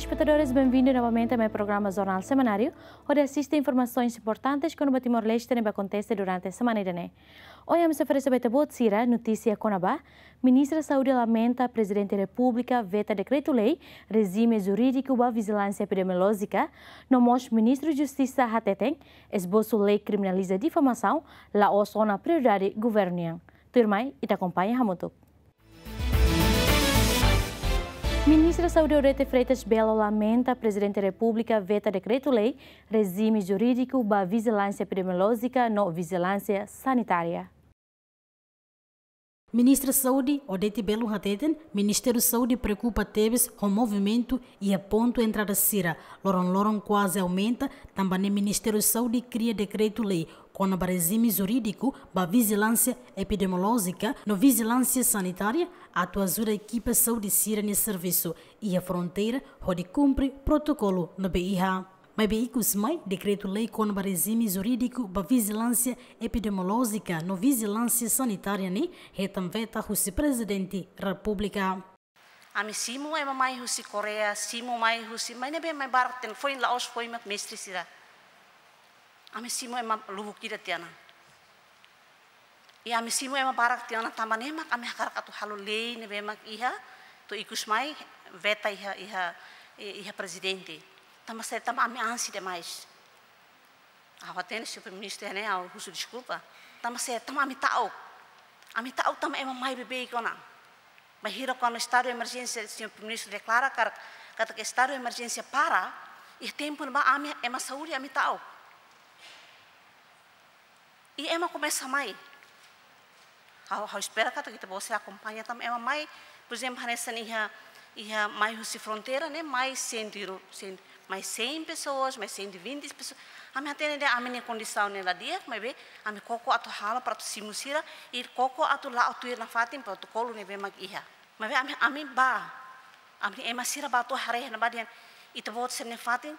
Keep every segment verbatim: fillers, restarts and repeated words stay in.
Espetadores, benvindu novamente a programa Jornál Semanáriu, hodi asiste informasaun importante kona-ba Timor-Leste ne'ebé akontese durante semana ida-ne'e. Ohin ami sei oferese ba ita-boot sira notísia kona-ba: Ministra Saúde lamenta Prezidente Repúblika veta dekretu-lei rejime jurídiku ba vijilánsia epidemiolójika, no mós Ministru Justisa hateten esbosu lei kriminaliza difamasaun la'ós ona prioridade governu nian. Tuirmai, ita akompaña hamutuk. Ministra Saúde Odete Freitas Belo lamenta Prezidente Repúblika veta dekretu-lei rejime jurídiku ba vijilánsia epidemiolójika no vijilánsia sanitária. Ministra Saúde Odete Belo hateten, Ministériu Saúde preokupa tebes ho movimentu iha pontu entrada sira, loron-loron kuaze aumenta, tanba ne'e Ministériu Saúde kria dekretu-lei kona-ba rejime jurídiku ba vijilánsia epidemiolójika no vijilánsia sanitária, atu ajuda ekipa saúde sira-nia servisu iha fronteira hodi kumpre protokolu ne'ebé iha. Maibé ikus mai, dekretu-lei kona-ba rejime jurídiku ba vijilánsia epidemiolójika no vijilánsia sanitária ne'e hetan veta husi Prezidente Repúblika. Ami simu ema mai husi Koreia, simu mai husi, mai ne'ebé mai barak tiha ona, foin la'ós foin mak mestre sira. Ami simu ema lubuk ida tiha ona. I ami simu ema barak tiha ona, tanba ne'e mak ami hakarak atu halo lei ne'ebé mak iha, to'o ikus mai veta iha, iha, iha Prezidente. Tanba saida? Tanba ami ansi demais. Ha'u hatene, Señór Primeiru-Ministru, ne'e ha'u husu deskulpa. Tanba saida? Tanba ami ta'uk. Ami ta'uk tanba ema mai beibeik ona. Bainhira kuandu estadu emerjénsia, Señór Primeiru-Ministru deklara katak, katak estadu emerjénsia para, iha tempu ne'ebá ami ema saúde ami ta'uk. I ema komesa mai. Ha'u, ha'u espera katak ita-boot sei akompaña tanba ema mai, por ezemplu, hanesan iha, iha mai husi fronteira ne'e mai cem, cem, mai cem pessoas, mai cento e vinte pessoas. Ami hatene de'it ami-nia kondisaun ne'e la di'ak, maibé ami koko atu halo para atu simu sira, i koko atu la'o tuir nafatin protokolu ne'ebé mak iha. Maibé ami, ami bá, ami ema sira bá to'o haree iha ne'ebá dehan ita-boot sira-nia fatin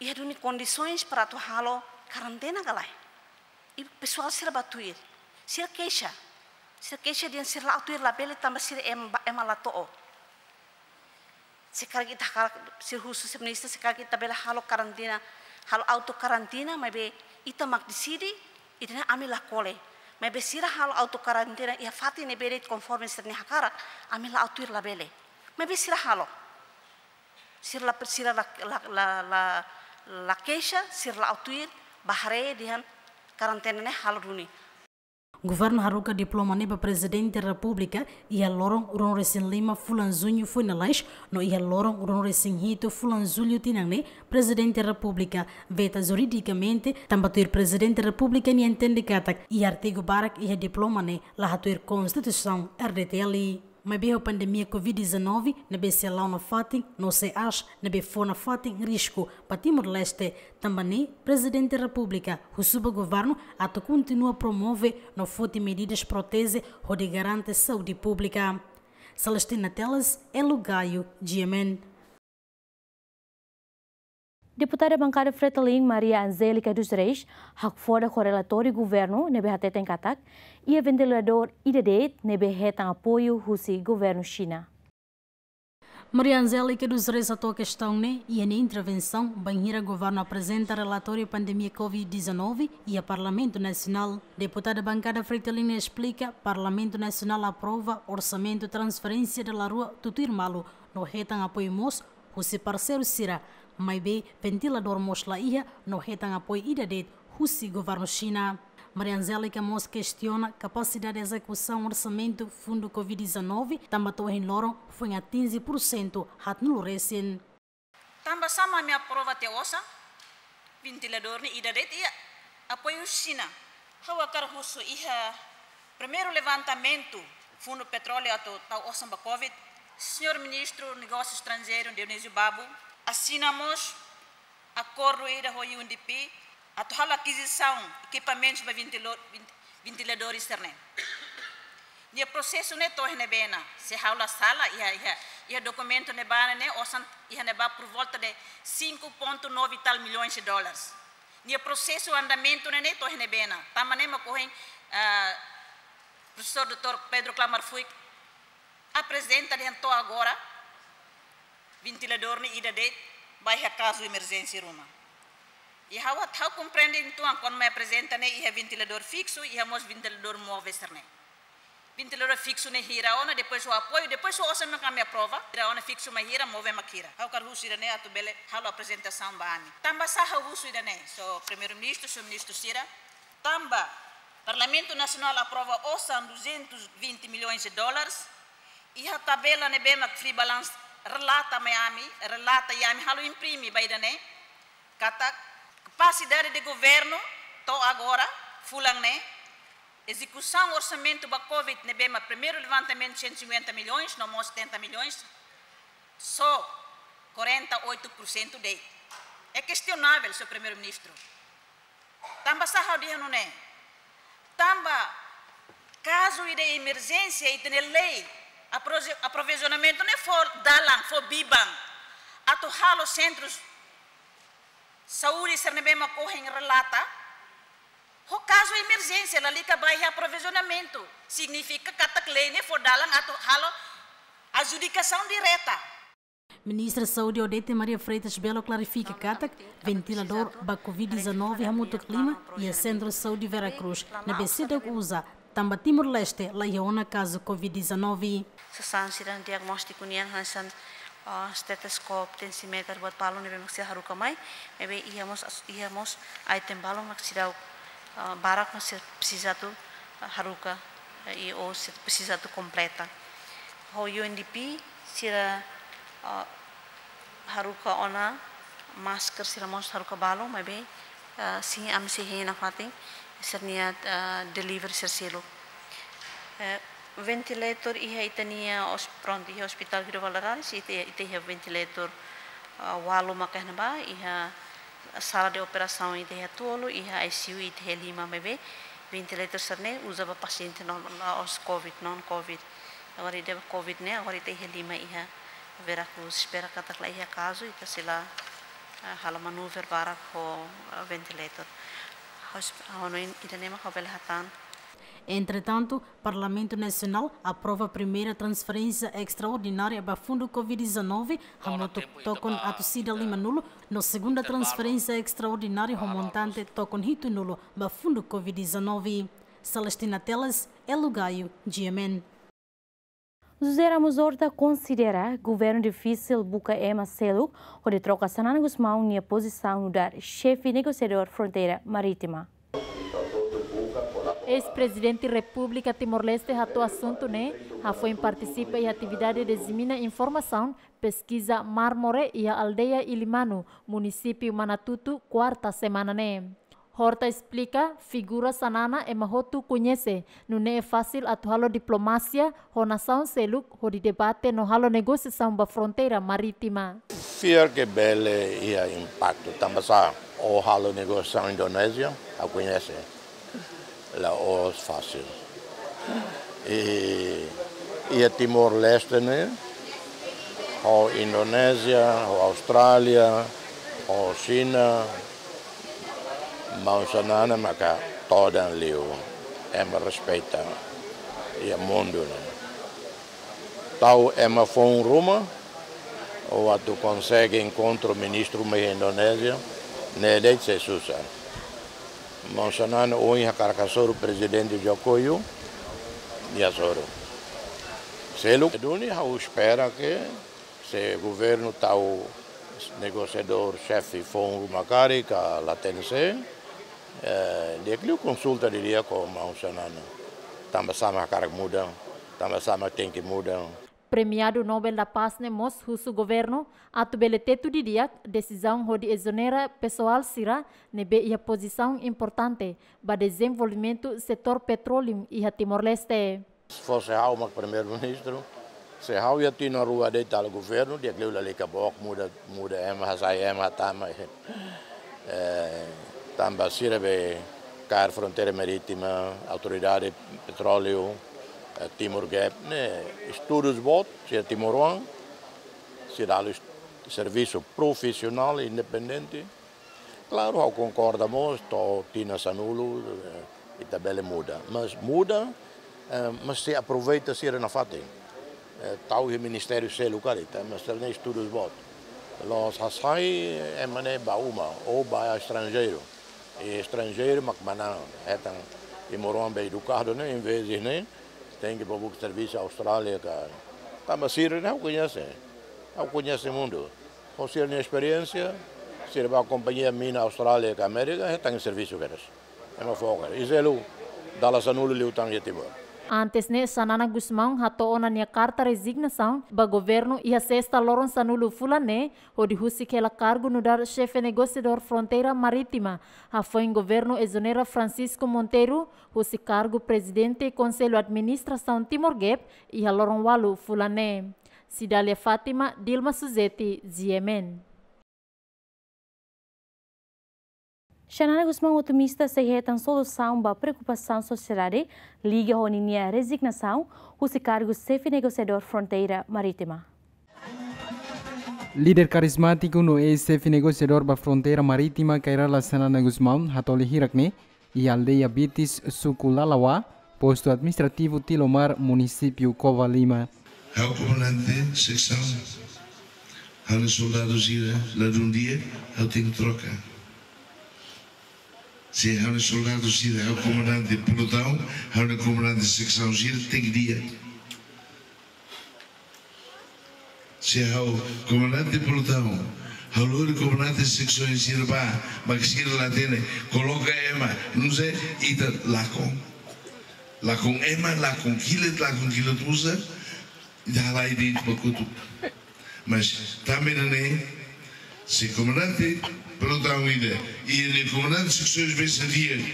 iha duni kondisoens para atu halo karantena ka lae? I pesoál sira bá tuir. Sira keixa. Sira keixa dehan sira la'o tuir labele tanba sira ema, ema la to'o. Se karik ita hakarak, sira husu, Señór Ministru, se karik ita bele halo karantena, halo auto karantena, maibé ita mak deside, ita-nia ami la kole. Maibé sira halo auto karantena iha fatin ne'ebé de'it konforme sira-nia hakarak, ami la'o tuir labele. Maibé sira halo. Sira la, sira la, la, la, la, la keixa, sira la'o tuir, bá haree dehan karantena ne'e halo duni. Governu haruka diploma ne'e ba Prezidente Repúblika iha loron ruanulu-resin-lima fulan Juñu foin lalais, no iha loron ruanulu-resin-hitu fulan Jullu tinan ne'e, Prezidente Repúblika veta juridikamente, tanba tuir Prezidente Repúblika nia entende katak iha artigu barak iha diploma ne'e la hatuir Konstituisaun R D T L. Maibé ho pandemia covid dezanove ne'ebé sei la'o nafatin, no sei aas ne'ebé fó nafatin risku ba Timor-Leste, tanba ne'e Prezidente Repúblika husu ba governu atu kontinua promove no foti medidas proteje hodi garante saúde públika. Celestina Teles, Elo Gayo, G M N. Deputada Bankada Fretilin, Maria Angélica dos Reis, hakfodak ho relatóriu governu ne'ebé hateten katak iha ventiladór ida de'it ne'ebé hetan apoiu husi governu Xina. Maria Angélica dos Reis hato'o kestaun ne'e iha nia intervensaun bainhira governu aprezenta relatóriu pandemia covid dezanove iha Parlamentu Nasionál. Deputada Bankada Fretilin esplika, Parlamentu Nasionál aprova orsamentu transferénsia dala rua tutuir malu, no hetan apoiu mós husi parseiru sira, maibé ventiladór mós la iha, no hetan apoiu ida de'it husi governu Xina. Maria Angélica mós kestiona kapasidade ezekusaun orsamentu fundu covid dezanove, tanba to'o ohin loron foin atinje pursentu haatnulu resin. Tanba sá mak ami aprova tiha osan, ventiladór ne'e ida de'it iha, apoiu Xina. Ha'u hakarak husu, iha primeiru levantamentu fundu petróleu atu tau osan ba covid, Señór Ministru Negósiu Estranjeiru Dionísio Babo asina mós akordu ida ho U N D P atu halo akizisaun ekipamentus ba ventilo-, vent-, ventiladór sira-ne'e. Nia prosesu ne'e to'o iha ne'ebé ona, se ha'u la sala, iha, iha, iha dokumentu ne'ebá ne'e, osan iha ne'ebá por volta de cinco ponto nove e tal milhões de dólares. Nia prosesu andamentu ne'e, ne'e to'o iha ne'ebé ona. Tanba ne'e mak ohin, ah, Profesór doutór Pedro Klamar Fuik aprezenta dehan to'o agora Ventiladór ne'e ida de'it ba iha kazu emerjénsia ruma. I ha'u, ha'u komprende uitoan kuandu mai aprezenta ne'e iha ventiladór fiksu, iha mós ventiladór móvel sira-ne'e. Ventiladór fiksu ne'e hira ona, depois ho apoiu, depois ho osan mak ami aprova, hira ona fiksu mak hira, móvel mak hira. Ha'u hakarak husu ida-ne'e atu bele halo aprezentasaun ba ami. Tanbasá ha'u husu ida-ne'e, señór Primeiru-Ministru, señór Ministru sira, tanba Parlamentu Nasionál aprova osan duzentos e vinte milhões de dólares, iha tabela ne'ebé mak free balance relata mai ami, relata iha ami halo imprime ba ida-ne'e, katak kapasidade de governu to'o agora, fulan ne'e, ezekusaun orsamentu ba covid ne'ebé mak primeiru levantamentu cento e cinquenta milhões, no mós setenta milhões, só quarenta e oito por cento de'it. É questionável, señór Primeiru-Ministru. Tanbasá ha'u dehan nune'e? Tanba kazu ida emerjénsia ita-nia lei, aprovi-, aprovizionamentu ne'e fó dalan, fó biban atu halo sentrus saúde sira ne'ebé mak ohin relata ho kazu emerjénsia, lalika ba iha aprovizionamentu. Signifika katak lei ne'e fó dalan atu halo adjudikasaun direta. Ministra Saúde Odete Maria Freitas Belo klarifika katak ventiladór ba covid dezanove hamutuk lima iha Sentru Saúde Vera Cruz ne'ebé seidauk uza, tanba Timor-Leste la iha ona kazu covid dezanove. Sasán sira diagnóstiku nian hanesan, ah, estetoscópiu, tensiméter, buat balun ne'ebé mak sira haruka mai, ne'ebé iha mós as-, iha mós item balun mak seidauk, ah, barak mak sira presiza atu, ah, haruka, eh, i ou sira presiza atu kompleta. Ho U N D P sira, ah, haruka ona masker sira mós haruka balun, maibé, ah, sin ami sei hein nafatin sira-nia, ah, delivery sira seluk. Eh, ventilator iha ita-nia os-, prontu, iha Hospital Guido Valadares, ita, ita iha ventilator, ah, ualu maka iha ne'ebá, iha sala de operasaun ita iha tolu, iha I C U ita iha lima, maibé ventilator sira-ne'e uza ba pasiente no, la'ós covid, non covid. Agora ida ba covid ne'e, agora ita iha lima iha Vera Cruz, espera katak la iha kazu, ita sei la, ah, halo manuver barak ho, ah, ventilator. Hos-, ha'u hanoin ida-ne'e mak ha'u bele hatán. Entretantu, Parlamentu Nasionál aprova primeira transferénsia estraordinária ba Fundu covid dezanove, hamutuk tokon atus ida limanulu, no segunda transferénsia estraordinária ho montante tokon hitunulu ba Fundu covid dezanove. Celestina Teles, Elo Gaio, G M N. José Ramos Horta konsidera governu difisil buka ema seluk hodi troka Xanana Gusmão nia pozisaun nu'udar xefe negosiadór fronteira marítima. Eis-Prezidente Repúblika Timor-Leste hato'o asuntu ne'e hafoin partisipa iha atividade dizemina informasaun peskiza Marmore iha aldeia Ilimanu, munisípiu Manatuto, kuarta semana ne'e. Horta esplika, figura Xanana ema hotu koñese, nune'e fasil atu halo diplomasia ho nasaun seluk hodi debate no halo negosiasaun ba fronteira marítima. Fiar ke bele iha impaktu, tanbasá ó halo negosiasaun Indonézia, ha'u koñese, la'ós fasil. I, iha Timor-Leste ne'e, ho Indonézia, ho Austrália, ho Xina, maun Xanana maka todan liu, ema respeita iha mundu ne'e. Tau ema foun ruma, ó atu konsege enkontru ministru mai Indonézia, ne'e de'it sei susar. Maun Xanana ohin hakarak hasoru Prezidente Joko Widodo, nia hasoru. Seluk duni ha'u espera ke se governu tau negosiadór xefe foun ruma karik ka laten sé, eh, di'ak liu konsulta didi'ak ho maun Xanana. Tanbasá mak hakarak muda, tanbasá mak tenke muda. Premiadu Nobel da Paz ne'e mós husu governu atu bele tetu didi'ak desizaun hodi ezonera pesoál sira ne'ebé iha pozisaun importante ba dezenvolvimentu setór petróleu iha Timor-Leste. Se fosse ha'u mak Primeiru-Ministru, se ha'u iha tinan rua de'it halo governu, di'ak liu lalika book muda, muda ema, hasai ema, hatama. Eh, tanba sira be kaer fronteira marítima, autoridade petróleu, eh, Timor Gap, ne'e estudus boot, sira timoroan, sira halo est-, servisu profisionál, independente. Klaru, ha'u konkorda mós, to'o tinan sanulu, eh, ita bele muda. Mas muda, eh, mas sei aproveita sira nafatin. Eh, tau iha ministériu seluk karik, ita mesti halo estudus boot. La'ós hasai ema ne'e ba uma, ou ba estranjeiru. I estranjeiru mak manán, hetan timoroan be edukadu ne'e, em vez de ne'e, tenke bá buka servisu Austrália ka. Tanba sira ne'e ha'u koñese. Ha'u koñese mundu. Ho sira-nia esperiénsia, sira bá kompañia mina Austrália ka Amérika, hetan servisu kedas. Ema foka. I seluk, dala sanulu liután iha Timor. Antes ne'e, Xanana Gusmão hato'o ona nia karta rezignasaun ba governu iha sesta loron sanulu fulan ne'e, hodi husik hela kargu nu'udar Xefe Negosiadór Fronteira Marítima. Hafoin governu ezonera Francisco Monteiro husi kargu Prezidente Konsellu Administrasaun Timor Gap iha loron ualu fulan ne'e. Cidália Fátima, Dilma Suzeti, G M N. Xanana Gusmão otimista sei hetan solusaun ba preokupasaun sosiedade liga ho ninia rezignasaun husi kargu Xefe Negosiadór Fronteira Marítima. Líder karizmátiku no eis-xefe negosiadór ba Fronteira Marítima, Kay Rala Xanana Gusmão, hato'o lia hirak ne'e iha aldeia Bitis, suku Lalawa, postu administrativu Tilomar, munisípiu Covalima. Ha'u komandante seksaun, ha'u-nia soldadu sira ladún di'ak, ha'u tenke troka. Se ha'u-nia soldadu sira, ha'u komandante pelotaun, ha'u-nia komandante seksaun sira tenke di'ak. Se ha'u komandante pelotaun, ha'u lori komandante seksaun sira bá, mak sira la hatene, koloka ema, não sei, ita lakon. Lakon ema, lakon kilat, lakon kilat musa, ita halai de'it ba kotuk. Mas tanba ne'e, se komandante pelotaun ida, i nia komandante seksaun be sá di'ak,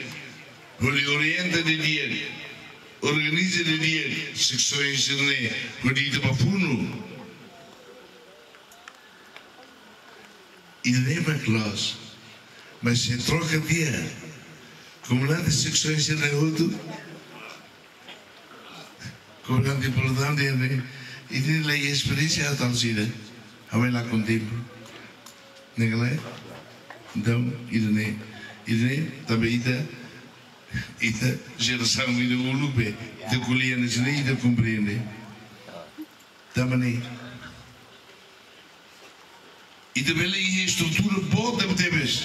hodi orienta didi'ak, organiza didi'ak seksaun sira-ne'e, hodi ita bá funu. Ida-ne'e mak loos. Mas se troka tiha komandante seksaun sira-ne'e hotu, komandante pelotaun dehan ne'e, ida-ne'e laiha esperiénsia atu halo saida. Ha'u mai lakon tempu. Ne'e ka lae? Entaun, ida-ne'e, ida-ne'e, tanba ita, ita jerasaun ida uluk be, ita ko'alia hanesan ne'e, ita komprende. Tanba ne'e, ita bele iha estrutura boot tebetebes.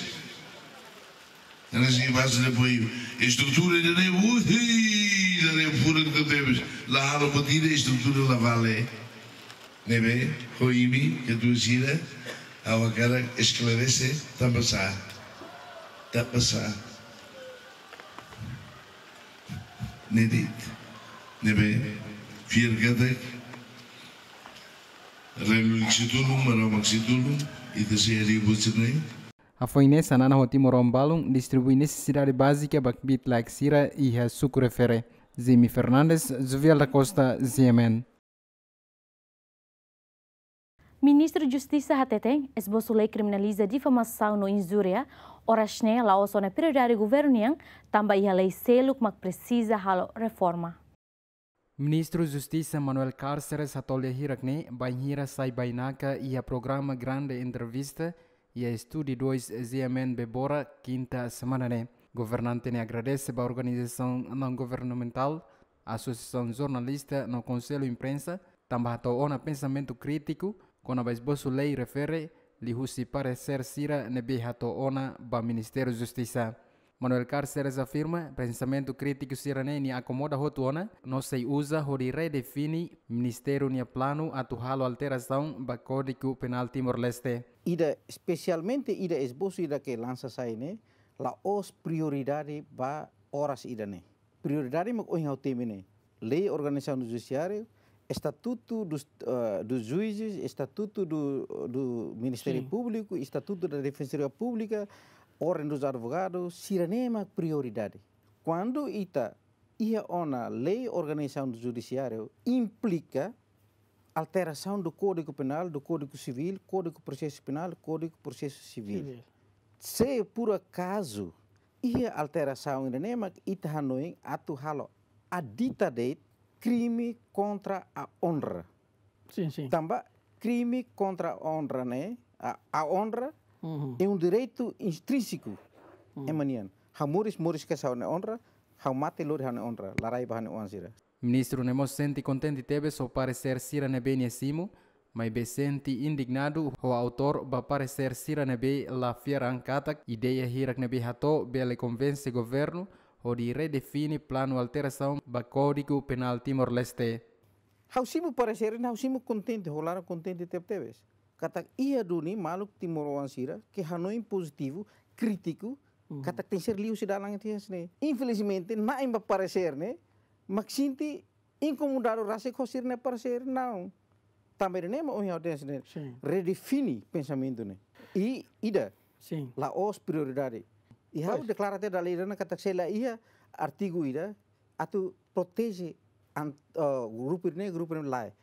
Hanesan iha baze de apoiu. Estrutura ida-ne'e, ui, ida-ne'e furak tebetebes. La halo buat ida, estrutura la vale. Ne'ebé, ho imi, katuas sira, ha'u hakarak esklarese, tanba sá. Tanba sá. Ne'e de'it. Ne'ebé, fiar katak, Rai Lulik sei tulun, Maromak sei tulun, ita sei harii buat sira-ne'e. Hafoin ne'e, Xanana ho timoroan balun distribui nesesidade bázika ba kbiit-laek sira iha suku refere. Jimmy Fernandes, Jovial da Costa, G M N. Ministru Justisa hateten, esbosu lei kriminaliza difamasaun no injúria, oras ne'e la'ós ona prioridade governu nian, tanba iha lei seluk mak presiza halo reforma. Ministru Justisa Manuel Cárceres hato'o lia hirak ne'e, bainhira sai bainaka iha programa Grande Entrevista, iha estúdiu dois G M N Bebora, kinta semana ne'e. Governante ne'e agradese ba organizasaun naun-governamentál, asosiasaun jornalista no Konsellu Imprensa, tanba hato'o ona pensamentu krítiku kona-ba esbosu lei refere, liuhusi paresér sira ne'ebé hato'o ona ba Ministériu Justisa. Manuel Cárceres afirma, pensamentu krítiku sira-ne'e nia akomoda hotu ona, no sei uza hodi redefine Ministériu nia planu atu halo alterasaun ba Kódigu Penál Timor-Leste. Ida, espesialmente ida esbosu ida ke lansa sai ne'e, la'ós prioridade ba oras ida-ne'e. Prioridade mak ohin ha'u temi ne'e. Lei organizasaun do judisiáriu, estatutu dos, eh, dos juízes, estatutu do, do Ministério Sim. Público, estatutu da Defensoria Pública, Ordem dos Advogados, sira-ne'e mak prioridade. Kuandu ita iha ona lei organizasaun do judisiáriu, implika alterasaun do Kódigu Penál, do Kódigu Sivíl, Kódigu Prosesu Penál, Kódigu Prosesu Sivíl. Sivíl. Se por acaso iha alterasaun ida-ne'e mak ita hanoin atu halo, a dita de'it krime kontra a onra. Sim, sim. Tanba krime kontra a onra ne'e, a, a onra Uhum. é um direito intrínseco. Uhum. Ema nian. Ha'u moris, moris ka sá ha'u-nia onra, ha'u mate lori ha'u-nia onra, la rai ba ha'u-nia oan sira. Ministru ne'e mós sente kontente tebes ho paresér sira ne'ebé nia simu, maibé sente indignadu ho autór ba paresér sira ne'ebé la fiar an katak ideia hirak ne'ebé hato'o bele konvense governu hodi redefine planu alterasaun ba Kódigu Penál Timor-Leste. Ha'u simu paresér ne'e, ha'u simu kontente, ho laran kontente tebetebes. Katak iha duni maluk timoroan sira ke hanoin pozitivu, krítiku, katak tenke ser liu husi dalan ida-ne'e. Infelizmente, na'in ba paresér ne'e, mak sente inkomodadu rasik ho sira-nia paresér, não. Tanba ida-ne'e mak ohin ha'u dehan ne'e. Sin. Redefine pensamentu ne'e. I ida. Sin. La'ós prioridade. I ha'u deklara tiha dala ida ona katak se la iha artigu ida atu proteje an-, eh, grupu ne'e, grupu ne'e lae.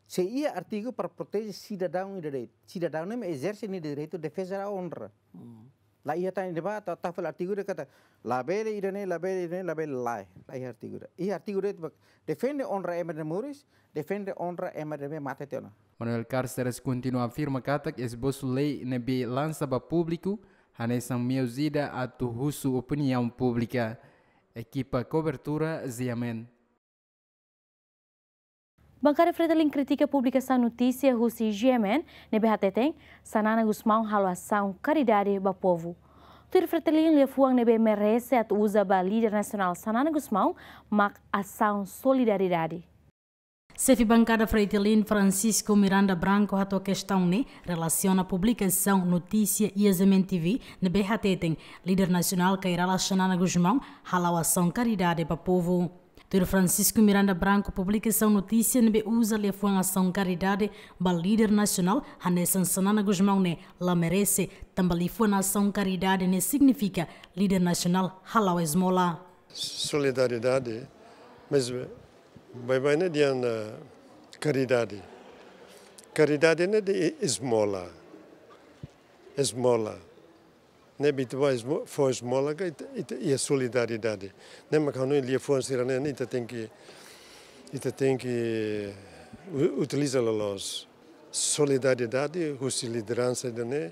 Se iha artigu para proteje sidadaun ida de'it. Sidadaun ne'e ezerse nia direitu defeza da onra. Hmm. La iha tan ida ba, ta, ta fali artigu de'it katak labele ida-ne'e, labele ida-ne'e, labele lae. La iha artigu de'it. Iha artigu de'it ba defende onra ema ida moris, defende onra ema ida mate tiha ona. Manuel Cárceres kontinua afirma katak esbosu lei ne'ebé lansa ba públiku hanesan meius ida atu husu opiniaun públika. Ekipa kobertura, G M N. Bankada Fretilin kritika publikasaun notísia husi G M N ne'ebé hateten Xanana Gusmão halo asaun karidade ba povu. Tuir Fretilin, liafuan ne'ebé merese atu uza ba líder nasionál Xanana Gusmão mak asaun solidariedade. Xefe bankada Fretilin, Francisco Miranda Branco, hato'o kestaun ne'e relasiona publikasaun notísia iha G M N T V ne'ebé hateten líder nasionál Kay Rala Xanana Gusmão hala'o asaun karidade ba povu. Tuir Francisco Miranda Branco, publikasaun notísia ne'ebé uza liafuan asaun karidade ba líder nasionál hanesan Xanana Gusmão ne'e la merese, tanba liafuan asaun karidade ne'e signifika líder nasionál hala'o ezmola. Solidariedade, mas baibain ne'e dehan, eh, karidade. Karidade ne'e dehan ezmola. Ezmola. Ne'ebé ita bá ezmo-, fó ezmola ka ita, ita iha solidariedade. Ne'e mak ha'u hanoin liafuan sira-ne'e ita tenke, ita tenke u-, utiliza loloos. Solidariedade husi lideransa ida-ne'e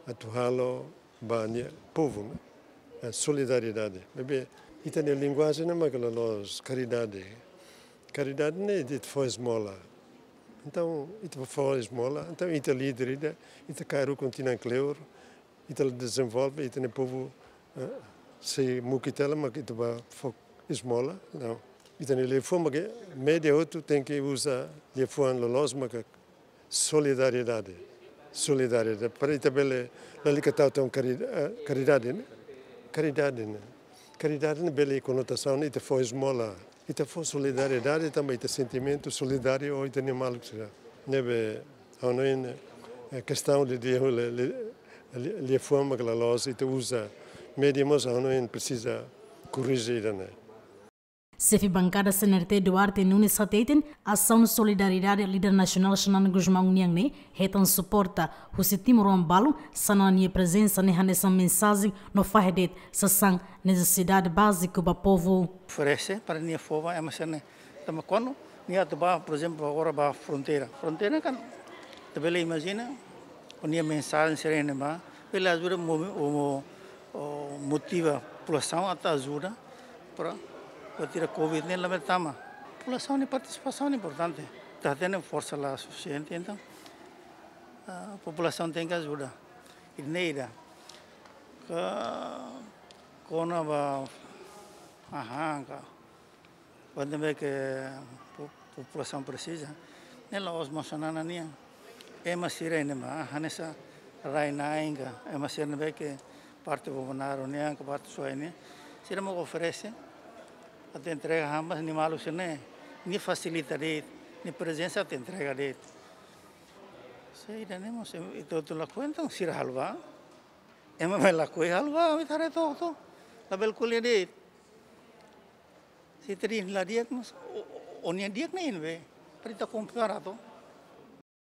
atu halo ba nia povu, ne'e? Eh, solidariedade. Maibé ita-nia linguajen ne'e mak loloos karidade. Karidade ne'e ita fó ezmola. Entaun, ita fó ezmola, entaun ita líder ida, ita kaer ukun tinan kleur, ita la dezenvolve, ita-nia povu, eh, sei muki tiha hela mak ita bá fó ezmola, não. Ita-nia liafuan mak média hotu tenke uza liafuan loloos mak solidariedade. Solidariedade. Para ita bele lalika tau tan kari-, eh, karidade, ne'e? Karidade, ne'e? Karidade ne'e bele konotasaun ita fó ezmola. Ita fó solidariedade tanba ita sentimentu solidáriu ho ita-nia maluk sira. Ne'ebé ha'u hanoin, eh, kestaun de, de, li-, li-, li-, liafuan mak loloos ita uza. Média mós ha'u hanoin presiza korrije ida-ne'e. Xefe bankada C N R T, Duarte Nunes, hateten asaun solidariedade líder nasionál Xanana Gusmão nian ne'e hetan suporta husi timoroan balu. Xanana nia prezensa ne'e hanesan mensajen no fahe de'it sasán nesesidade báziku ba povu. Oferese para nia fó ba ema sira ne'e. Tanba kuandu nia atu bá, por ezemplu, agora ba fronteira. Fronteira kan, ita bele imajina, ho nia mensajen sira-ne'e bá, bele ajuda mo-, mo-, o, motiva populasaun atu ajuda para, para tira covid ne'e labele tama. Populasaun nia partisipasaun importante. Ita hatene forsa la sufisiente, entaun, ah, populasaun tenke ajuda. Ida-ne'e ida. Ka, kona-ba, aha, ka. Kuandu ne'ebé ke po-, populasaun presiza, ne'e la'ós mós Xanana nian. Ema sira-ne'e mak hanesan rai-na'in ka, ema sira ne'ebé ke parte Bobonaro nian ka parte Suai nian, sira mak oferese atu entrega hanesan nia maluk sira-ne'e, nia fasilita de'it, nia prezensa atu entrega de'it. Se ida-ne'e mós, ita hotu lakohi, entaun sira halo bá. Ema mai lakohi halo bá, ita haree to'o, to'o. Labele ko'alia de'it. Se ita dehan la di'ak, mas o, o, o-nia di'ak ne'e ne'ebé. Para ita kompara to'o.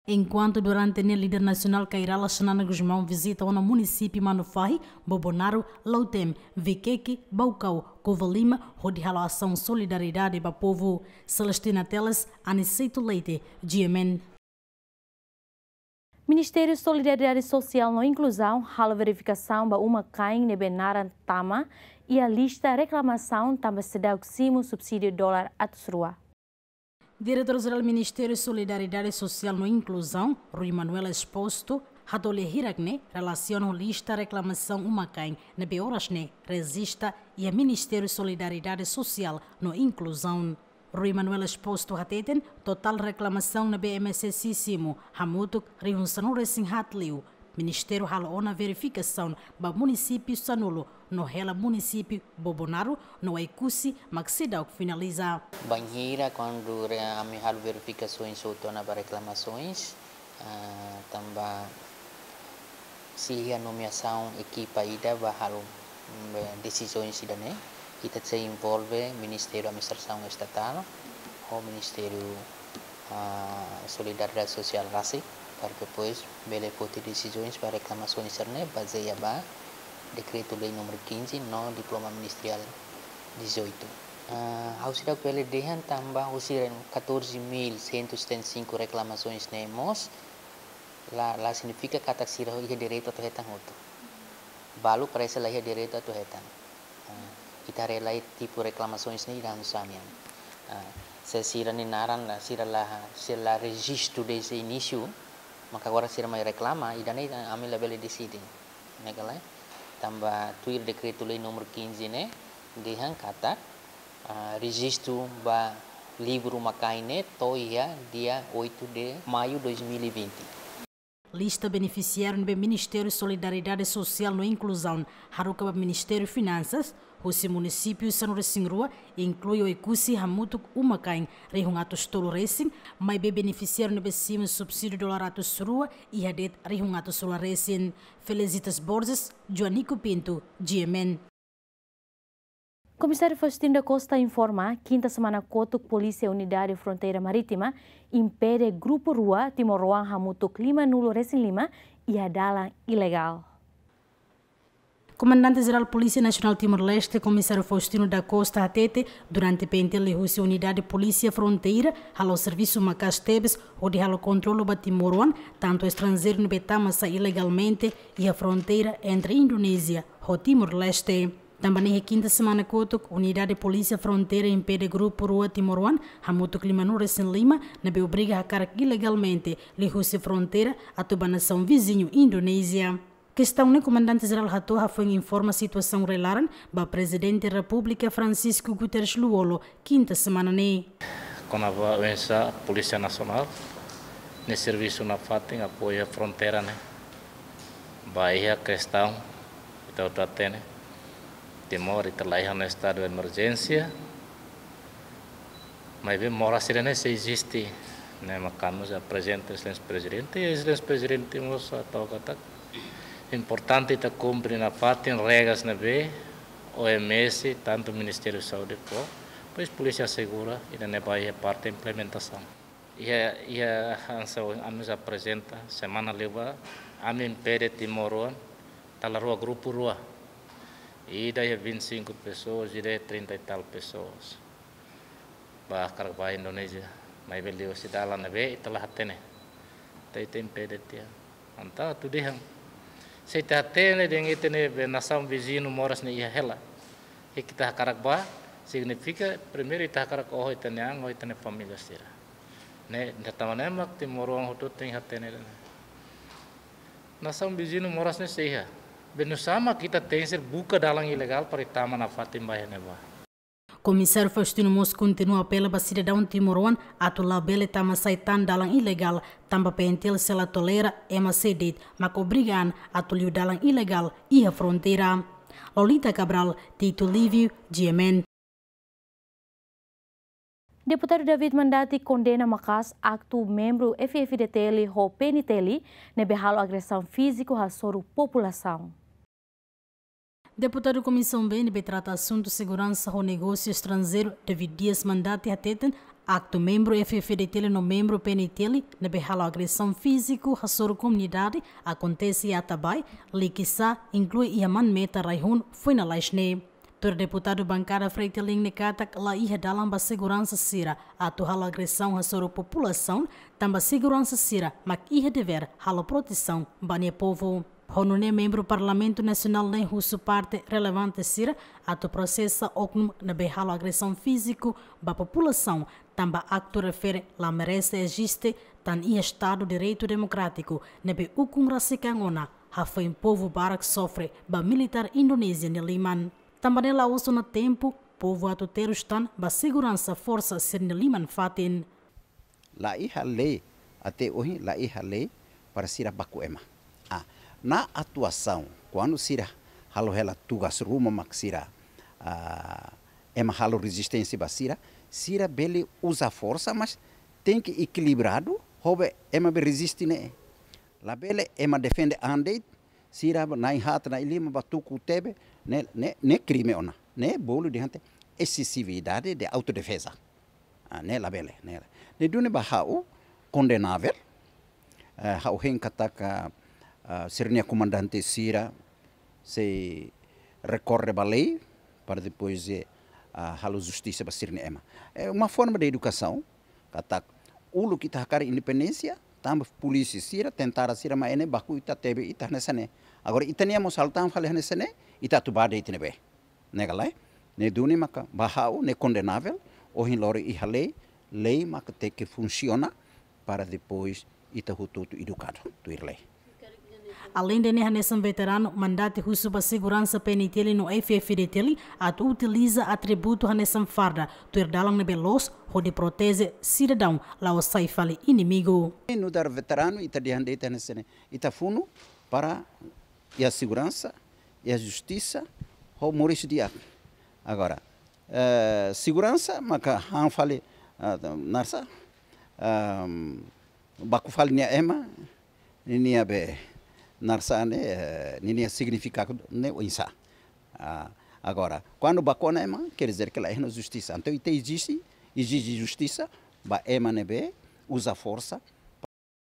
Enkuantu durante ne'e líder nasionál Kay Rala Xanana Gusmão vizita ona munisípiu Manufahi, Bobonaro, Lautém, Viqueque, Baucau, Covalima, hodi halo asaun solidariedade ba povu. Celestina Teles, Aniceto Leite, G M N. Ministériu Solidariedade Sosiál no Inkluzaun halo verifikasaun ba uma-kain ne'ebé naran tama iha lista reklamasaun tanba seidauk simu subsídiu dolar atus rua. Diretór Jerál Ministériu Solidariedade Sosiál no Inkluzaun, Rui Manuel Exposto, hato'o lia hirak ne'e relasiona ho lista reklamasaun uma-kain ne'ebé oras ne'e rejista iha Ministériu Solidariedade Sosiál no Inkluzaun. Rui Manuel Exposto hateten, totál reklamasaun ne'ebé M S S simu hamutuk rihun sanulu-resin-haat liu. Ministériu halo ona verifikasaun ba munisípiu sanulu no hela munisípiu Bobonaro no Oekusi mak seidauk finaliza. Bainhira kuandu re-, ami halo verifikasaun hotu ona ba reklamasaun, ah, tanba sei iha nomeasaun ekipa ida ba halo, mm, desizaun ida-ne'e, ita sei envolve Ministériu Administrasaun Estatál ho Ministériu, ah, Solidariedade Sosiál rasik, para depois bele foti desizaun ba reklamasaun sira-ne'e bazeia ba Dekretu-Lei númeru quinze no Diploma Ministerial dezoito. Ah, ha'u seidauk bele dehan tanba husi catorze mil cento e setenta e cinco reklamasaun ne'e mós, la, la signifika katak sira iha direitu atu hetan hotu. Balu parese la iha direitu atu hetan. Ah, ita haree lai tipu reklamasaun ne'e ida hanesan ne'e. Ah, se sira-nia naran la, sira la, sira la rejistu dezde inísiu, maka agora sira mai reklama, ida-ne'e ami labele deside. Ne'e ka lae? Tanba tuir Dekretu-Lei númeru quinze ne'e dehan katak, ah, rejistu ba livru uma-kain ne'e to'o iha dia oito de maio dois mil e vinte. Lista benefisiáriu ne'ebé Ministériu Solidariedade Sosiál no Inkluzaun haruka ba Ministériu Finansas, husi munisípiu sanulu-resin-rua, inklui Oekusi hamutuk uma-kain rihun atus tolu-resin, maibé benefisiáriu ne'ebé simu subsídiu dolar atus rua iha de'it rihun atus rua-resin. Felicitas Borges, Joanico Pinto, G M N. Komisáriu Faustino da Costa informa, kinta semana kotuk Polísia Unidade Fronteira Marítima impede grupu rua timoroan hamutuk limanulu-resin-lima iha dalan ilegál. Komandante Jerál Polísia Nasionál Timor-Leste, Komisáriu Faustino da Costa hateten, durante P N T L husi Unidade Polísia Fronteira halo servisu maka'as tebes hodi halo kontrolu ba timoroan, tantu estranjeiru ne'ebé tama sai ilegalmente iha fronteira entre Indonézia ho Timor-Leste. Tanba ne'e iha kinta semana kotuk, Unidade Polísia Fronteira impede grupu rua timoroan hamutuk limanulu-resin-lima ne'ebé obriga hakarak ilegalmente liuhusi fronteira atu ba nasaun viziñu Indonézia. Kestaun ne'e Komandante Jerál hato'o hafoin informa situasaun rai-laran ba Prezidente Repúblika Francisco Guterres Lú-Olo, kinta semana ne'e. Kona-ba oinsá Polísia Nasionál nia servisu nafatin apoiu fronteira ne'e. Ba iha kestaun, ita hotu hatene, Timor ita laiha ona estadu emerjénsia, maibé moras sira-ne'e sei eziste, ne'e mak ami aprezenta Exelénsia Prezidente, i Exelénsia Prezidente mós hato'o katak importante ita kumpre nafatin regras ne'ebé O M S, tantu Ministériu Saúde fó, depois Polísia Asegura, ida-ne'e ba iha parte implementasaun. Iha, iha hanesan ami aprezenta, semana liubá, ami impede timoroan, dala rua grupu rua. Ida iha vinte e cinco pessoas, ida iha trinta e tal pessoas. Ba hakarak ba Indonézia, maibé liuhusi dalan ne'ebé ita la hatene. Ita, ita impede tiha. Entaun atu dehan, se ita hatene dehan ita-nia be nasaun viziñu moras ne'e iha hela, i ita hakarak ba, signifika primeiru ita hakarak oho ita-nia an, oho ita-nia família sira. Ne'e, ne'e tanba ne'e mak timoroan hotu tenke hatene dehan nasaun viziñu moras ne'e sei iha. Be nusá mak ita tenke buka dalan ilegál para ita tama nafatin ba iha ne'ebá. Komisáriu Faustino mós kontinua apela ba sidadaun timoroan atu labele tama sai tan dalan ilegál, tanba P N T L sei la tolera ema sé de'it mak obriga an atu liu dalan ilegál iha fronteira. Lolita Cabral, Tito Livio, G M N. Deputadu David Mandati kondena maka'as aktu membru F F D T L ho P N T L ne'ebé halo agresaun fíziku hasoru populasaun. Deputadu Komisaun B ne'ebé trata asuntu seguransa ho negósiu estranjeiru, David Dias Mandati, hateten aktu membru F F D T L no membru P N T L ne'ebé halo agresaun fíziku hasoru komunidade akontese iha Atabae, Likisá, inklui iha Manmeta, Raihun, foin lalais ne'e. Tuir deputadu bankada FRETILIN ne'e katak la iha dalan ba seguransa sira atu halo agresaun hasoru populasaun, tanba seguransa sira mak iha devér halo protesaun ba nia povu. Ho nune'e membru Parlamentu Nasionál ne'e husu parte relevante sira atu prosesa oknum ne'ebé halo agresaun fíziku ba populasaun, tanba aktu refere la merese eziste tan iha Estadu Direitu Demokrátiku ne'ebé ukun rasik an ona hafoin povu barak sofre ba militár Indonézia nia liman. Tanba ne'e la'ós ona tempu povu atu terus tan ba seguransa forsa sira-nia liman fatin. La iha lei, até ohin la iha lei para sira baku ema. Ah, na atuasaun, kuandu sira halo hela tugas ruma mak sira, ah, ema halo rezisténsia ba sira, sira bele uza forsa, mas tenke ekilibradu, ho be ema be reziste ne'e. Labele ema defende an de'it, sira ba na'in haat, na'in lima ba tuku tebe, ne'e, ne'e, ne'e krime ona. Ne'e bolu dehan ita esesividade de autodefeza. Ah, ne'e labele, ne'e. Ne'e duni ba ha'u kondenavel. Eh, ha'u hein katak, ah, sira-nia komandante sira sei rekorre ba lei para depois, eh, ah, halo justisa ba sira-nia ema. É uma forma de educação, katak uluk ita hakarak independénsia, tanba polísia sira, tentara sira mai ne'e baku ita tebe ita hanesan ne'e. Agora ita-nia mós halo tan fali hanesan ne'e, ita atu ba de'it ne'ebé. Ne'e ka lae, ne'e duni maka ba ha'u ne'e kondenavel, ohin loron iha lei, lei maka tenke funsiona para depois ita hotu-hotu edukadu tuir lei. Aleinde ne'e hanesan veteranu, mandante husu ba seguransa P N T L no F F D T L atu utiliza atributu hanesan farda, tuir dalan ne'ebé loos, hodi proteje sidadaun la'ós sai fali inimigu. Nu'udar veteranu, ita dehan de'it hanesan ne'e, ita funu para iha seguransa, iha justisa, ho moris di'ak. Agora, eh, seguransa maka han fali, ah, naran sá, ah, baku fali nia ema, ninia be naran sá ne'e, eh, ninia signifikadu ne'e oinsá. Ah, agora, kuandu baku ona ema, quer dizer que la iha ona justisa. Entaun, ita ezije, ezije justisa ba ema ne'ebé uza forsa.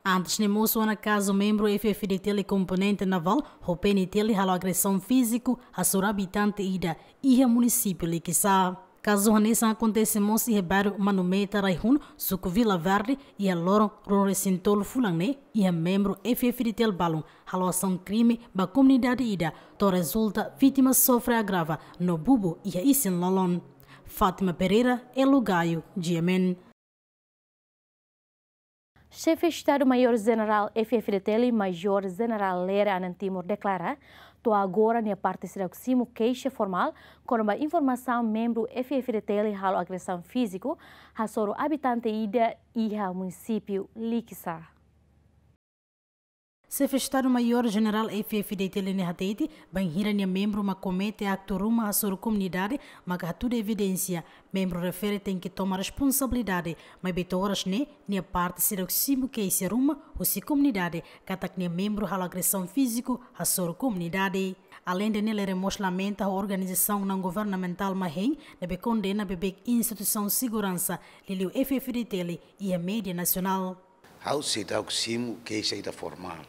Antes ne'e mosu ona kazu membru F F D T L komponente navál ho P N T L halo agresaun fíziku hasoru abitante ida iha munisípiu Likisá. Kazu hanesan akontese mós iha bairru Manumeta Raihun, suku Vila Verde, iha loron ruanulu-resin-tolu fulan ne'e, iha membru F F D T L balun halo asaun krime ba komunidade ida, to'o rezulta vítima sofre agrava no bubu iha isin-lolon. Fátima Pereira, Elo Gaio, G M N. Xefe Estadu Maiór Jenerál F F D T L, Major Jenerál Lere Anan Timur deklara, to'o agora nia parte seidauk simu keixa formál kona-ba informasaun membru F F D T L halo agresaun fíziku hasoru abitante ida iha munisípiu Likisá. Xefe Estadu Maiór Jenerál F F D T L ne'e hatete, bainhira nia membru mak komete aktu ruma hasoru komunidade, maka hatudu evidénsia, membru refere tenke toma responsabilidade, maibé to'o oras ne'e, nia parte seidauk simu keixa ruma husi komunidade, katak nia membru halo agresaun fíziku hasoru komunidade. Aleinde ne'e, Lere mós lamenta ho organizasaun naun-governamentál MAHEIN, ne'ebé kondena beibeik instituisaun seguransa, liuliu F F D T L, iha média nasionál. Ha'u seidauk simu keixa ida formál.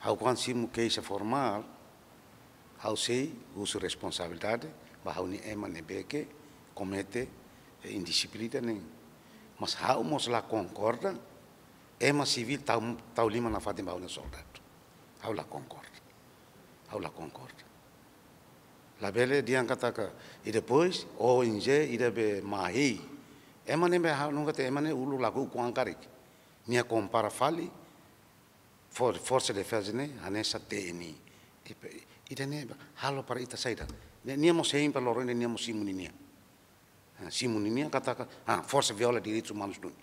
Ha'u kuandu simu keixa formál, ha'u sei husu responsabilidade ba ha'u-nia ema ne'ebé ke komete, eh, indixiplina ne'e. Mas ha'u mós la konkorda, ema sivíl tau, tau liman nafatin ba ha'u-nia soldadu. Ha'u la konkorda. Ha'u la konkorda. Labele dehan katak, i depois, O N G, ida be MAHEI. Ema ne'ebé ha'u nunka te ema ne'e uluk lakohi ukun an karik. Nia kompara fali, for-, Forsa Defeza ne'e, hanesan T N I. I pe-, ida-ne'e halo para ita saida. Ne'e, nia mós hein para loron ne'e, nia mós simu ninia. Ah, simu ninia katak, ah, forsa viola direitus umanus duni.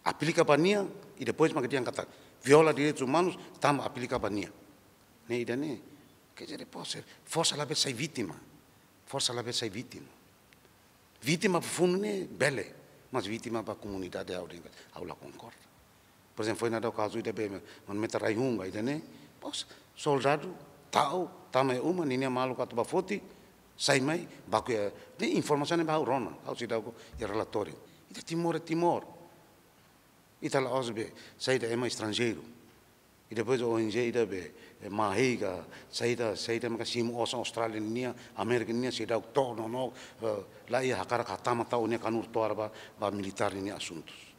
Aplika ba nia, i depois mak dehan katak, viola direitus umanus, tanba aplika ba nia. Ne'e ida-ne'e, quer dizer, forsa, forsa labele sai vítima. Forsa labele sai vítima. Vítima ba funu ne'e bele, mas vítima ba komunidade ha'u dehan, ha'u la konkorda. Por ezemplu, foin daudaun kazu ida be Manumeta Raihun ba ida-ne'e. Pos, soldadu, tau, tama iha uma, ninia maluk atu ba foti, sai mai, baku iha, ne'e informasaun ne'e ba ha'u rona, ha'u seidauk iha relatóriu. Ita Timor, é Timor. Ita la'ós be, saida ema estranjeiru. I depois O N G ida be, eh, MAHEI ka, saida, saida maka simu osan Austrália nian, Amérika nian, seidauk to'o no, no, eh, la iha hakarak hatama tau nia kanur to'ar ba, ba militár ninia asuntus.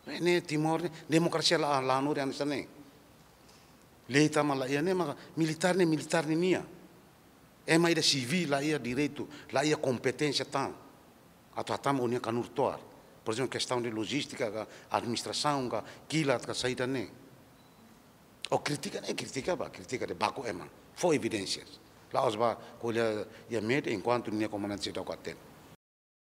Ne'e Timor ne'e, demokrasia la, la hanorin hanesan ne'e. Lei tama la iha ne'e, maka militár ne'e militár ninian. Ema ida sivíl la iha direitu, la iha kompeténsia tan atu hatama ó-nia kanur-toar. Por ezemplu, kestaun de lojístika ka, administrasaun ka, kilat ka, saida ne'e. Ó kritika ne'e, kritika bá, kritika de'it, baku ema. Fó evidénsias. La'ós bá ko'alia iha média enkuantu nia komandante seidauk hatene.